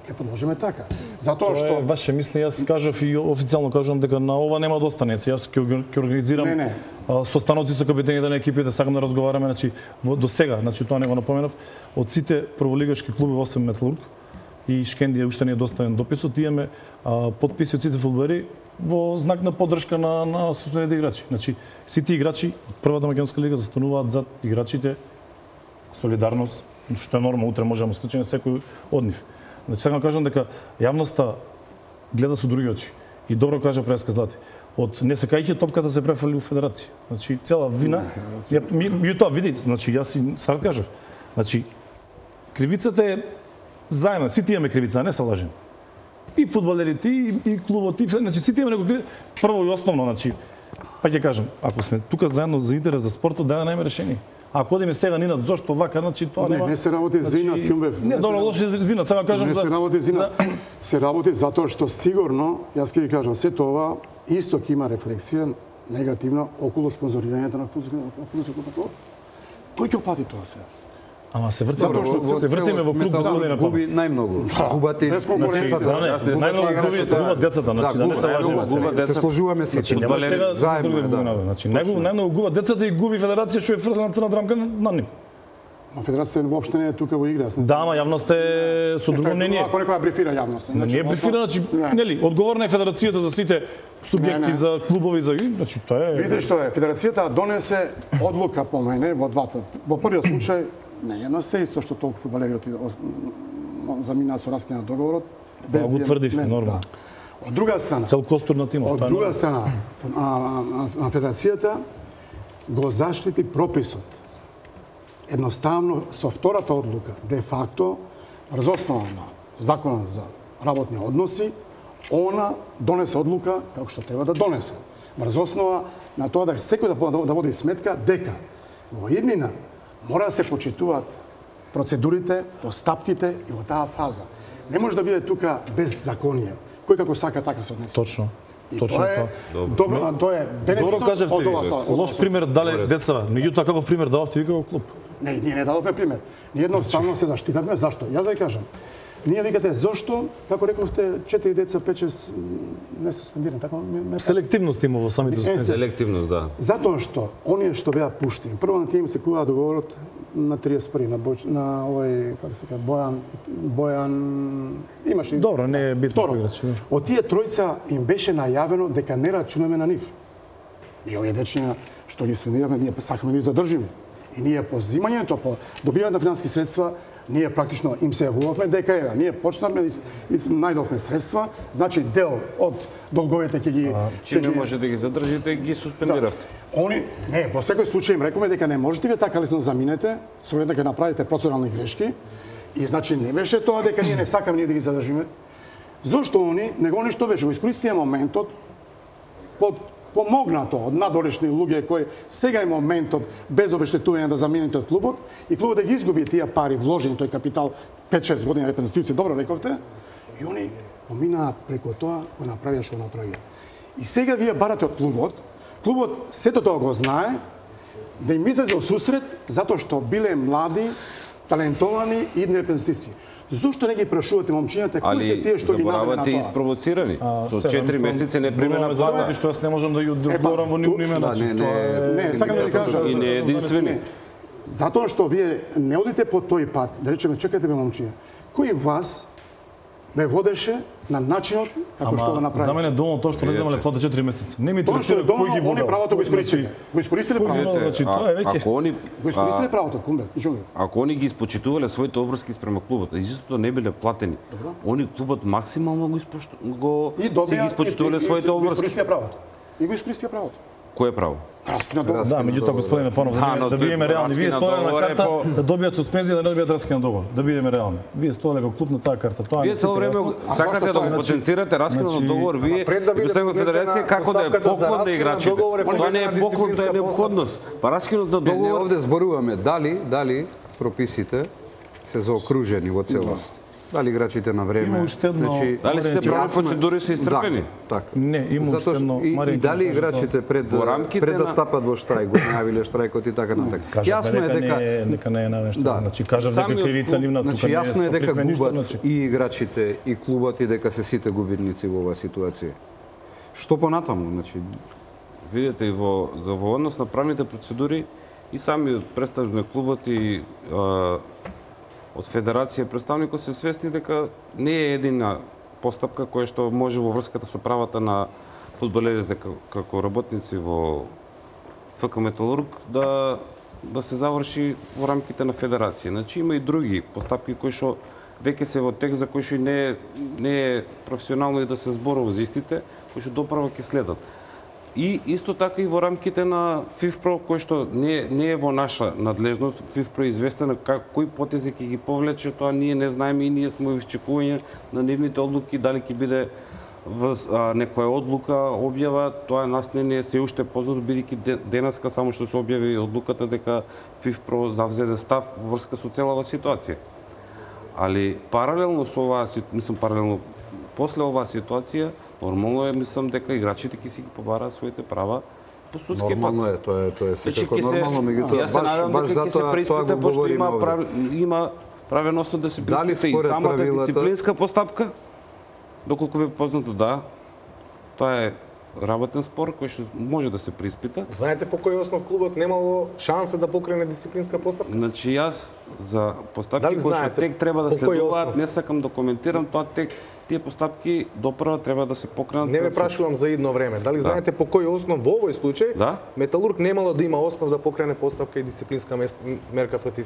Ќе продолжиме така. Затоа Тоа е што ваше мисли, јас кажав и официјално кажувам дека на ова нема да остане. Јас ќе орг- ќе организирам Не, не. а, состаноци со капитените на екипите, сакам да разговараме, значи во- до сега, значи тоа не го напоменав, од сите прволигашки клубови освен Металург и Шкендија уште не е доставен дописот, имаме а, потписи од сите фудбалери во знак на поддршка на на суспендираните играчи. Значи сите играчи од првата македонска лига застануваат зад играчите, солидарност, што е нормално, утре може да му случи на секој од нив. Значи сакам да кажам дека јавноста гледа со други очи. И добро кажа Преска Злати. од не секајќи топката се префали у федерација. Значи цела вина ја меѓутоа видите, значи јас си сарт кажав. Значи кривицата е заедно, сите имаме кривица, не се лажем. И фудбалерите, и, и клубот, и значи сите имаме некој прво и основно, значи па ќе кажам, ако сме тука заедно за интерес за спортот, да најме решение. Ако одиме сега нинат зошто вака, значи тоа нема. Не, не се работи за инат, Ќумбев. Не, добро, лошо за инат, сега кажам за. Не се работи за инат. Се работи затоа што сигурно, јас ќе ви кажам, се тоа исто ќе има рефлексија негативна околу спонзорирањето на фудбалскиот клуб. Кој ќе плати тоа сега? Ама се врти, затоа што се вртиме во клуб господина Панов. Губи најмногу. Губати без конкуренција. Најмногу губи губат децата, значи да не се лажеме. Губат деца. Се сложуваме сите. Нема сега заедно, да. Значи најмногу најмногу губат децата и губи федерација што е фрлена црна драмка на нив. Ма федерацијата воопшто не е тука во игра. Да, ама јавноста е со друго мнение. Ако некоја брифира јавноста. Не е брифира, значи нели, одговорна е федерацијата за сите субјекти, за клубови, за значи тоа е. Видите што е, федерацијата донесе одлука по мене во двата. Во првиот случај не е на се исто што толку фудбалери замина со раскина договорот. Без го тврдивме нормално. Од друга страна, цел костур на тимот. Од друга страна, а федерацијата го заштити прописот. Едноставно со втората одлука, де факто, врз основа на законот за работни односи, она донесе одлука како што треба да донесе. Врз основа на тоа да секој да, да води сметка дека во иднина мора да се почитуваат процедурите, постапките и во таа фаза. Не може да биде тука без законие. Кој како сака така се однесе. Точно. И Точно тоа е добро, тоа е бенефитот. Добро кажавте ви. Лош пример дале децава. Меѓутоа каков пример дававте ви како клуб? Не, ние не дадовме пример. Ние едноставно се заштитавме. Зашто? Јас да ја кажам. Ние викате зошто, како рековте, четири деца, пет-шест не се суспендирани, така ме... Селективност има во самите суспензии. Селективност, да. Затоа што оние што беа пуштени, прво на тие им се кува договорот на триесет први на Бој, на овој, како се кажа, Бојан Бојан имаше. Добро, не е битно кој играч. Од тие тројца им беше најавено дека не рачунаме на нив. И овие дечиња што ги суспендиравме, ние сакаме да ги задржиме. И ние по земањето, по добивање на финансиски средства, ние практично им се јавувавме дека ева, ние почнавме и, и најдовме средства, значи дел од долговите ќе ги... Чим не може да ги задржите, ги суспендиравте. Да. Они, не, во секој случај им рековме дека не можете вие така лесно заминете, со оглед дека направите процедурални грешки, и значи не беше тоа дека ние не сакаме ние да ги задржиме. Зошто они, него они што беше, го искористија моментот под помогнато од надворешни луѓе кои сега е моментот без обештетување да заминете од клубот и клубот да ги изгуби тие пари вложени тој капитал пет-шест години репрезентативци, добро рековте, и они поминаа преку тоа, го направија што направија. И сега вие барате од клубот, клубот сето тоа го знае, да им излезе во сусрет затоа што биле млади, талентовани и идни репрезентативци. Зошто не ги прашувате момчињата кои сте тие што ги наведена на тоа? Ali испровоцирани. Со четири месеци не примена плата. Што јас не можам да ја одговорам во нивни имена. Не, не, не, сакам да ви кажам. И не е единствени. Затоа што вие не одите по тој пат, да речеме, чекате бе момчиња. Кој вас ве водеше на начинот како што го направи? За мене доволно тоа што не земале плата четири месеци. Не ми Тоа што интересира кој ги они водел. правото го искористиле. Го искористиле правото. Значи тоа е веќе. Ако они Го искористиле правото, кумбе, и чуме. Ако они ги испочитувале своите обврски спрема клубот, а истото не биле платени, они клубот максимално го испошту... го си ги испочитувале своите обврски. И го искористија правото. И го искористија правото. Кое право? Раскина договор. Да, меѓутоа господине Панов, Да, но да тој бидеме реални, вие раскина стоеле на договор е карта по- да добијат суспензија, да не добијат раскина договор. Да бидеме реални. Вие стоеле како клуб на таа карта. Тоа Вие не цело сите време јасно. А сакате зашто да тоа го е? потенцирате раскинот Значи, договор, вие пред да биде представува поднесена федерација како да е оставката за поклон на раскин на играчите. договор е Тоа не е поднесена поклон, тоа е дисциплинска неопходност. Па раскинот на Не, не, договор овде зборуваме дали, дали прописите се заокружени во целост. Дали играчите на време. Има уште едно- дали сите Јасно правни е- процедури се испрепени? Да, така. Не, има уште Затоа едно, и, Марија, и дали ќе кажа играчите пред Во рамките пред да на- стапат во штрајк, го најавиле штрајкот и така натака. Кажавме дека не е дека не е навешто. Да. Значи кажав дека Самиот кривица клуб, нивна тука Значи не е. јасно е дека соприфме ништо, губат значи. и играчите и клубот и дека се сите губитници во оваа ситуација. Што понатаму, значи Видете, и во, во однос на правните процедури и сами представник на клубот и а, од федерација представникот се свесни дека не е едина постапка која што може во врската со правата на фудбалерите како, како работници во ФК Металург да да се заврши во рамките на федерација. Значи има и други постапки кои што веќе се во текст за кои што не е, не е професионално и да се зборува за истите, кои што доправа ќе следат. И исто така и во рамките на ФИФПРО, кој што не, не е во наша надлежност, ФИФПРО е известен как, кои потези ќе ги повлече, тоа ние не знаеме и ние сме во iščекување на нивните одлуки, дали ќе биде в, а, некоја одлука, објава, тоа нас не, не е се уште познато, бидејќи денеска само што се објави одлуката дека ФИФПРО завзеде став во врска со целава ситуација. Али паралелно со оваа, мислам паралелно после оваа ситуација, нормално е, мислам дека играчите ќе си ги побараат своите права по судски пат. Нормално е, тоа е, тоа е секако нормално, меѓутоа јас се надевам баш дека ќе се преиспита, пошто има прав, има правеност да се преиспита и самата правилата... дисциплинска постапка. Доколку ви е познато, да, тоа е работен спор кој што може да се преиспита. Знаете по кој основ клубот немало шанса да покрене дисциплинска постапка? Значи јас за постапки кои што тек треба да следуваат, не сакам да коментирам тоа тек. Тие постапки допрва треба да се покренат. Не ме прашувам за идно време. Дали да. знаете по кој основ во овој случај да? Металург немало да има основ да покрене постапка и дисциплинска мерка против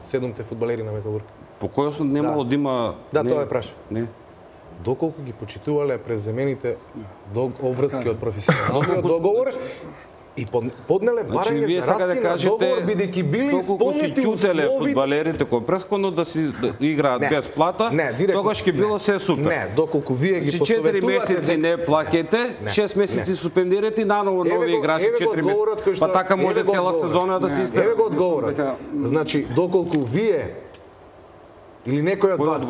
седумте фудбалери на Металург? По кој основ немало да, да има... Да, не... тоа е прашав. Не. Доколку ги почитувале преземените обврски од професионалниот договор и поднеле барање значи, за раскин на договор, бидејќи били исполнети услови... фудбалерите кои пресходно да си да играат без плата, не, тогаш ќе било се супер. Не, доколку вие ги посоветувате... четири месеци не плаќајте, шест месеци суспендирате и наново нови играчи четири месеци. Па така може цела сезона да се истеме. Еве го одговорот. Значи, доколку вие или некој од вас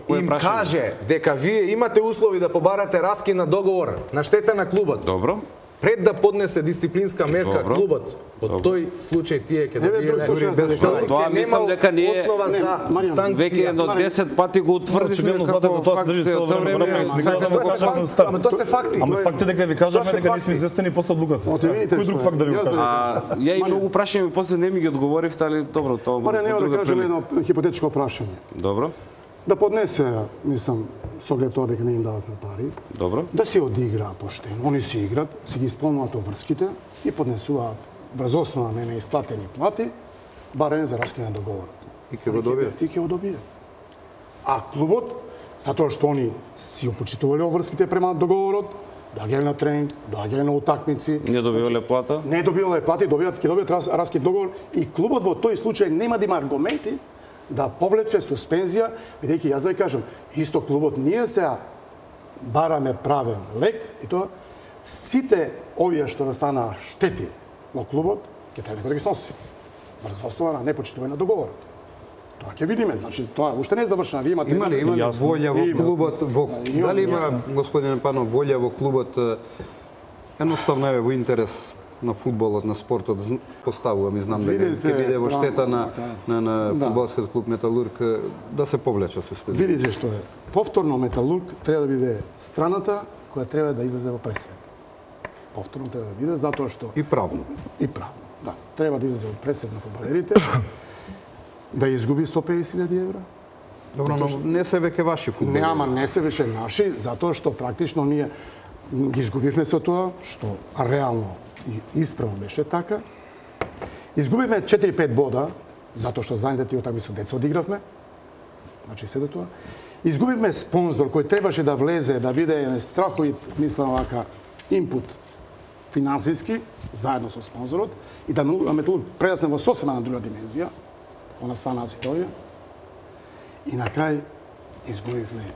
им каже дека вие имате услови да побарате раскин на договор на штета на клубот. Добро. Пред да поднесе дисциплинска мерка Добро. клубот, во тој случај тие ќе добиеле. Тоа мислам дека ние веќе едно десет пати го утврдивме како за тоа се држи цело време. Ама тоа се факти. Ама факт е дека ви кажаме дека не сме известени после одлуката. Кој друг факт да ви го кажа? Ја и многу прашања после не ми ги одговоривте, али добро, тоа Маре, не да кажем едно хипотетичко прашање. Добро. Да поднесе, мислам, со оглед тоа дека не им дават на пари. Добро. Да се одигра поштено. Они си играт, си ги исполнуваат обврските и поднесуваат врз основа на неисплатени плати барање за раскин на договорот. И ќе го добие. И ќе го добие. А клубот, затоа што они си опочитувале обврските према договорот, доаѓале на тренинг, доаѓале на утакмици. Не добивале плата? Не добивале плати, добиваат, ќе добијат раскин договор и клубот во тој случај нема да има аргументи да повлече суспензија, бидејќи јас да ви кажам, исто клубот ние сега бараме правен лек и тоа сите овие што настанаа штети во клубот ќе треба некој да ги сноси. Врз основа на непочитување на договорот. Тоа ќе видиме, значи тоа уште не е завршено. Ви имате има ли има волја во клубот во дали има господин Панов волја во клубот едноставно е во интерес на фудбалот, на спортот, поставувам и знам дека ќе биде во штета на на на фудбалскиот клуб Металург да се повлече суспензија. Видите што е. Повторно Металург треба да биде страната која треба да излезе во пресвет. Повторно треба да биде затоа што и правно. И правно. Да, треба да излезе во пресвет на фудбалерите. Да изгуби сто песет илјади евра. Добро, но не се веќе ваши фудбалери. Не, ама не се веќе наши, затоа што практично ние ги изгубивме со тоа што реално и исправно беше така. Изгубивме четири-пет бода, затоа што знаете тие такви со деца одигравме. Значи се до тоа. Изгубивме спонзор кој требаше да влезе, да биде страховит, мислам вака, инпут финансиски, заедно со спонзорот, и да Металург прерасне во сосема на друга димензија, она станаа ситуација. И на крај изгубивме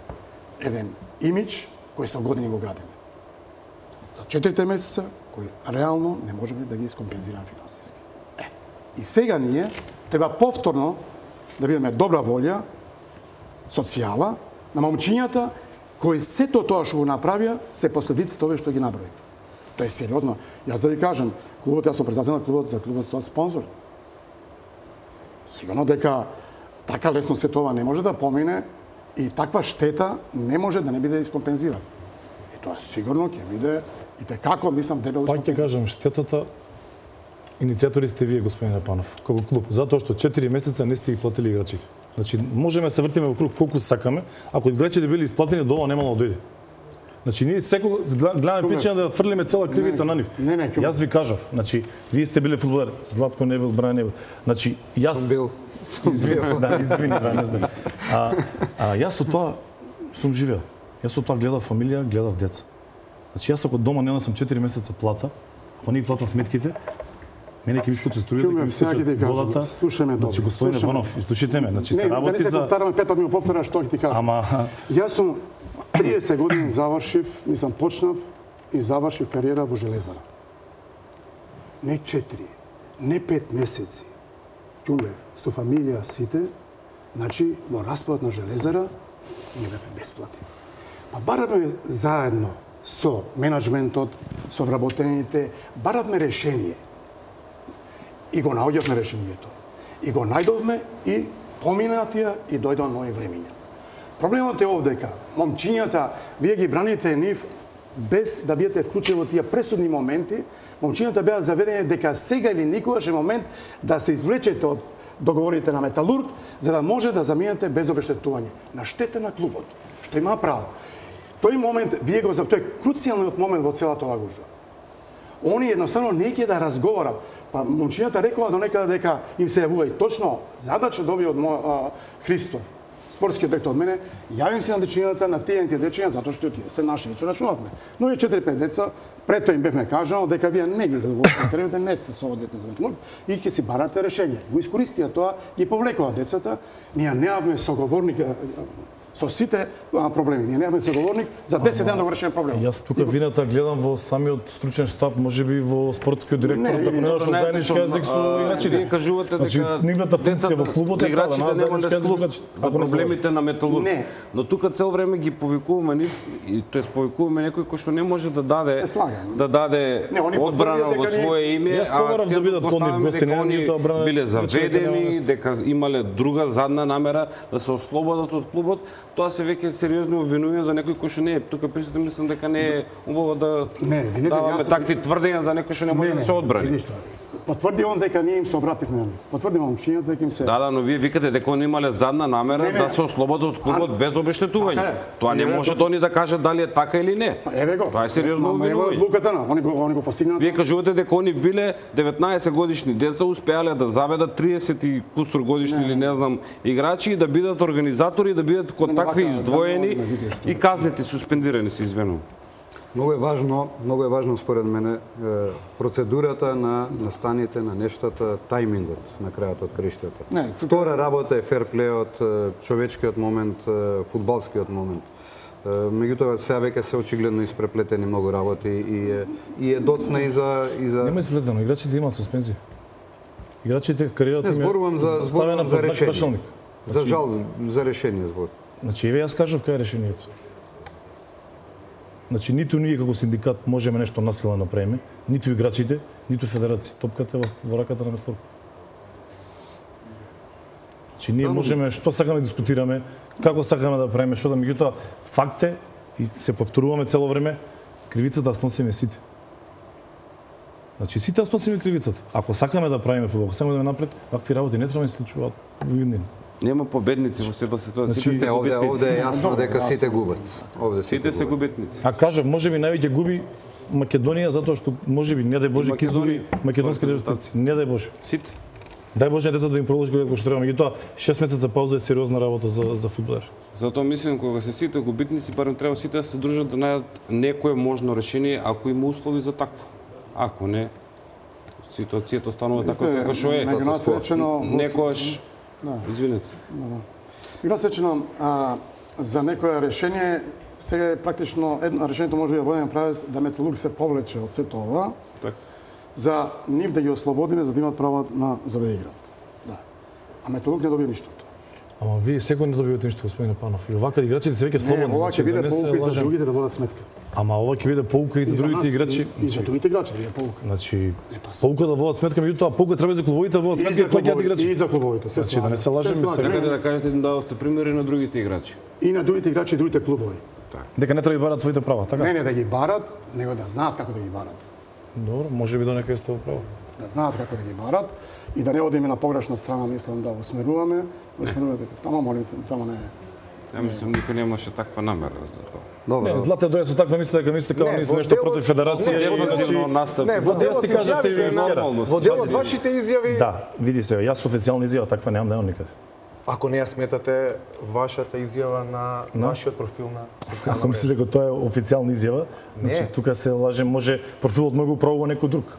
еден имидж кој сто години го градиме. За четирите месеца кои реално не можеме да ги искомпензираме финансиски. Е, и сега ние треба повторно да бидеме добра волја, социјала, на момчињата кои сето тоа што го направија се последиците овие што ги наброи. Тоа е сериозно. Јас да ви кажам, клубот, јас сум председател на клубот, за клубот стоат спонзор. Сигурно дека така лесно се тоа не може да помине и таква штета не може да не биде искомпензирана. И тоа сигурно ќе биде и те како мислам дебело. Пак ќе кажам, штетата иницијатори сте вие, господине Панов, како клуб, затоа што четири месеца не сте ги платили играчите. Значи, можеме да се вртиме во круг колку сакаме, ако играчите били исплатени, до ова немало да дојде. Значи, ние секој гледаме причина да фрлиме цела кривица на нив. Не, не, јас ви кажав, значи, вие сте биле фудбалер, Златко не бил, Брајан не бил. Значи, јас сум бил. Извини, да, извини, да, не знам. А, а јас со тоа сум живеел. Јас со тоа гледав фамилија, гледав деца. Значи јас ако дома нема сум четири месеца плата, ако не ги платам сметките, мене ќе ми искочи струјата, ќе ми искочи водата. Слушаме добро. Значи господин Иванов, изслушайте ме, значи се работи за... Не, да не се повтараме пет пати ми повтораш што ќе ти кажам. Ама Јас сум триесет години завршив, мислам почнав и завршив кариера во Железара. Не четири, не пет месеци. Ќумбев, со фамилија сите, значи во распадот на Железара ние бевме бесплатни. Па бараме заедно со менаџментот, со вработените, баравме решение. И го наоѓавме решението. И го најдовме и помина тие и дојдоа нови времиња. Проблемот е овдека. Момчињата, вие ги браните нив без да бидете вклучени во тие пресудни моменти. Момчињата беа заведени дека сега или никогаш е момент да се извлечете од договорите на Металург, за да може да заминете без обештетување. На штета на клубот, што има право. Тој момент, вие го за тој круцијалниот момент во целата оваа гужва. Они едноставно не ќе да разговарат. Па момчињата рекоа до некаде дека им се јавува и точно задача доби од мој Христов, спортскиот директор од мене, јавим се на дечињата, на тие дечиња затоа што тие се наши, што рачунавме. Но и четири-пет деца, пред тоа им бевме кажано дека вие не ги задоволите теренот, не сте соодветни за Металург и ќе си барате решение. Го искористија тоа, ги повлекоа децата, ние неавме соговорник со сите проблеми. Ние немаме соговорник за десет дена да го решиме проблемот. Јас тука вината гледам во самиот стручен штаб, можеби во спортскиот директор, да понедаш од заеднички јазик со играчите. Вие кажувате дека нивната функција во клубот е таа играчите нема да слушаат за проблемите на Металург. Но тука цел време ги повикуваме нив и тоест повикуваме некој кој што не може да даде да даде одбрана во свое име, а да бидат кон нив гости, они биле заведени, дека имале друга задна намера да се ослободат од клубот. Тоа се веќе сериозно обвинување за некој кој што не е тука присутен, мислам дека не е убаво да даваме такви тврдења за некој што не може да се одбрани. Потврди он дека ние им се обративме. Потврди момчињата дека им се. Да, да, но вие викате дека они имале задна намера не, не. да се ослободат од клубот без обештетување. Тоа не може да они да кажат дали е така или не. Еве го. Тоа е сериозно обвинување. Луката на, они го они го постигнаа. Вие кажувате дека они биле деветнаесет годишни деца, успеале да заведат триесет и кусур годишни или не знам играчи и да бидат организатори, да бидат кон такви издвоени и казнети, суспендирани се, извинувам. Многу е важно, многу е важно според мене процедурата на настаните на нештата, тајмингот на крајот од краиштата. Втора работа е ферплејот, човечкиот момент, фудбалскиот момент. Меѓутоа сега веќе се очигледно испреплетени многу работи и е, и е доцна и за и за Нема испреплетено, играчите имаат суспензија. Играчите кариерата им е зборувам за зборувам за решение. За жал за решение збор. Значи еве јас кажав кај е решението. Значи, ниту ние како синдикат можеме нешто насилно да направиме, ниту играчите, ниту федерација. Топката е во раката на Металург. Значи, ние можеме што сакаме да дискутираме, како сакаме да правиме, што да меѓутоа факт е и се повторуваме цело време, кривицата сносиме сите. Значи, сите сносиме кривицата. Ако сакаме да правиме фудбал, ако сакаме да напред, вакви работи не треба да се случуваат во Јундин. Нема победници во сите ситуации. Значи, се овде, овде е јасно дека сите губат. Овде сите се губитници. А кажав, можеби највеќе губи Македонија затоа што можеби не дај Боже ќе изгуби македонските рестарци. Не дај Боже. Сите. Дај Боже децата да им продолжи како што треба, меѓутоа шест месеца пауза е сериозна работа за за фудбалер. Затоа мислам кога се сите губитници, барем треба сите да се здружат да најдат некое можно решение ако има услови за такво. Ако не, ситуацијата останува така како што е. Некојаш извинете. Играсечено за некое решение сега е практично едно решението може да бъде направено да Металург се повлече од сето ова. Так. За нив да ги ослободиме за да имат право на за да играат. Да. А Металург не добија ништо. Ама вие секој не добивате ништо, господин Панов. И овака играчите се веќе слободни. Не, ова ќе биде поука и за другите да водат сметка. Ама ова ќе биде поука и за другите играчи. И за другите играчи да биде поука. Значи, поука да водат сметка, меѓутоа поука треба за клубовите да водат сметка и плаќаат играчи. И за клубовите, се значи, да не се лажеме сега. Сакате да кажете да давате примери на другите играчи. И на другите играчи и другите клубови. Дека не треба да барат своите права, така? Не, не да ги барат, него да знаат како да ги барат. Добро, може би до некаде сте право. Да знаат како да ги барат и да не одиме на погрешна страна, мислам да осмеруваме, осмеруваме дека тама молим, тама не е. Ја мислам никој немаше таква намера за тоа. Добро. Не, Злате дојде со таква мисла дека мислите како ние сме нешто против федерација. Дефинитивно настап. Не, Злате, јас ти кажав ти вчера. Во дел од вашите изјави. Да, види се, јас официјална изјава таква немам, немам никаде. Ако не ја сметате вашата изјава на вашиот профил на социјална Ако мислите дека тоа е официјална изјава, значи тука се лаже, може профилот мој го управува некој друг.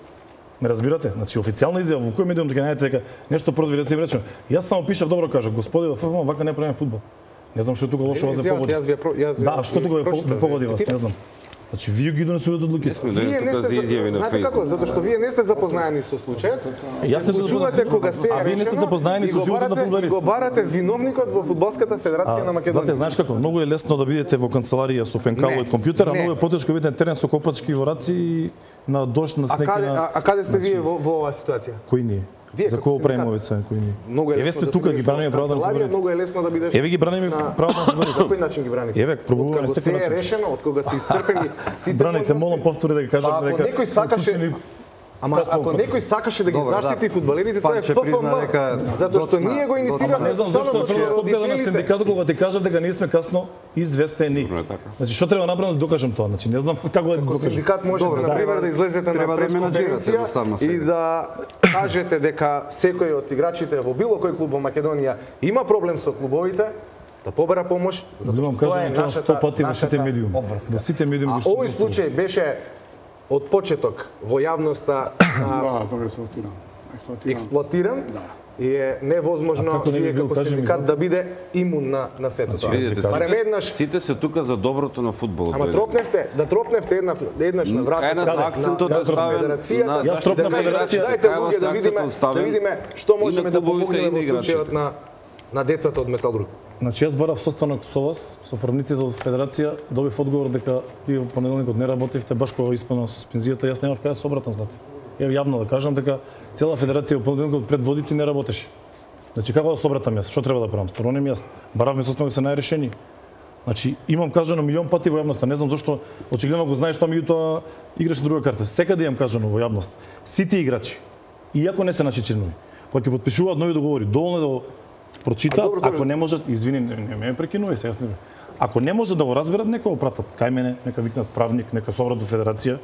Ме разбирате? Значи официјална изјава во кој медиум дека најдете дека нешто против да се речем. Јас само пишав добро кажа, господи во ФФМ вака не правиме фудбал. Не знам што е тука лошо вас да погоди. Да, што тука ве погоди вас, не знам. Значи вие ги донесувате одлуки. Вие не сте изјави на знаете како? Затоа што вие не сте запознаени со случајот. Јас не чувате кога се А вие не сте запознаени со животот на фудбалерите. Го барате виновникот во фудбалската федерација на Македонија. Знаете, знаеш како? Многу е лесно да бидете во канцеларија со пенкало и компјутер, а многу е потешко бидете на терен со копачки во раци и на дожд, на снег. А каде а каде сте вие во во оваа ситуација? Кои ние? За кого правиме овој кои ние? Многу е лесно да тука ги браниме правата на фудбалерите. Многу е лесно да бидеш. Еве ги браниме правата на фудбалерите. Кој начин ги браните? Еве, пробуваме на секој начин. Се е решено, од кога се исцрпени сите. Браните, молам повтори да ги кажам дека. Ако некој сакаше Ама ако некој сакаше да ги заштити фудбалерите, тоа е ФФМ, затоа што ние го инициираме. Не знам зашто тоа на синдикатот кога ти кажав дека ние сме касно известени. Значи што треба направам да докажам тоа? Значи не знам како да докажам. Синдикат можете на пример да излезете на пресконференција и да кажете дека секој од играчите во било кој клуб во Македонија има проблем со клубовите, да побара помош, затоа што тоа е нашата нашата обврска. Во сите медиуми што овој случај беше од почеток во јавноста експлоатиран и е невозможно вие како синдикат да биде имун на на сето тоа. Барем еднаш сите се тука за доброто на фудбалот. Ама тропневте, да тропневте една еднаш на врата. Кај акцентот е ставен на Јас тропнав федерација. Дајте луѓе да видиме, да видиме што можеме да помогнеме во случајот на на децата од Металург. Значи јас барав состанок со вас, со правниците од федерација, добив одговор дека тие во понеделникот не работевте баш кога исполнува суспензијата, јас немав каде се обратам, знаете. Еве јавно да кажам дека цела федерација во понеделникот пред Водици не работеше. Значи како да се обратам јас, што треба да правам? Стварно не ми јасно. Баравме состанок се најрешени. Значи имам кажано милион пати во јавноста, не знам зашто очигледно го знаеш тоа меѓутоа играш друга карта. Секаде имам кажано во јавност. Сите играчи, иако не се наши членови, кога ќе потпишуваат нови договори, доволно да прочита, ако не можат, извини, не, не ме прекинувај се, јас не. Ако не може да го разберат, нека го пратат кај мене, нека викнат правник, нека се обратат до федерација.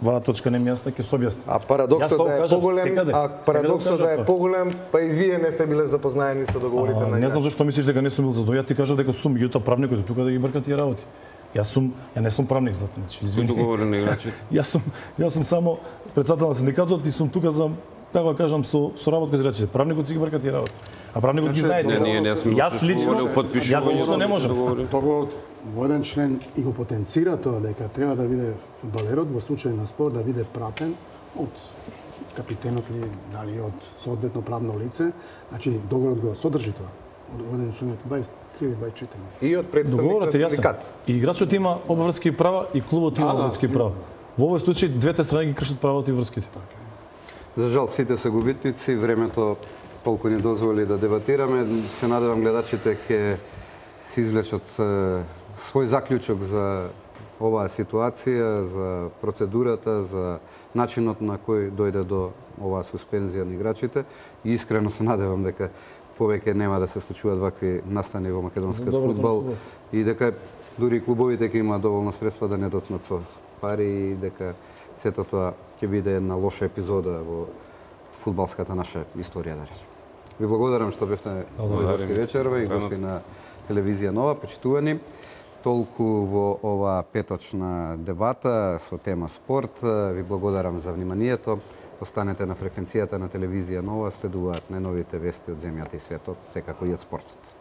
Ваа точка не ми јасна, ќе се објасни. А парадоксот да е поголем, а парадоксот да е поголем, па и вие не сте биле запознаени со договорите на. Не знам зашто мислиш дека не сум бил задоволен. Ја ти кажав дека сум, меѓутоа правникот е тука да ги брка тие работи. Јас сум, ја не сум правник, знаете, значи, извини. Договори на играчите. Јас сум, јас сум само претседател на синдикатот и сум тука за како да кажам со со работа со играчите. Правникот си ги брка тие работи. А правникот ги знае. Не, ние не сме. Јас лично јас лично не можам. Договорот во еден член и го потенцира тоа дека треба да биде фудбалерот во случај на спор да биде пратен од капитенот или дали од соодветно правно лице. Значи договорот го содржи тоа. Од еден член дваесет и три или дваесет и четири. И од представник на синдикат. И играчот има обврски права и клубот има обврски права. Во овој случај двете страни ги кршат правата и врските. За жал сите се губитници, времето толку ни дозволи да дебатираме. Се надевам гледачите ќе се извлечат свој заклучок за оваа ситуација, за процедурата, за начинот на кој дојде до оваа суспензија на играчите. И искрено се надевам дека повеќе нема да се случуваат вакви настани во македонскиот фудбал и дека дури клубовите ќе имаат доволно средства да не доцнат со пари и дека сето тоа ќе биде една лоша епизода во фудбалската наша историја, да речем. Ви благодарам што бевте во вечерва и гости на телевизија Нова, почитувани. Толку во ова петочна дебата со тема спорт. Ви благодарам за вниманието. Останете на фреквенцијата на телевизија Нова, следуваат најновите вести од земјата и светот, секако и од спортот.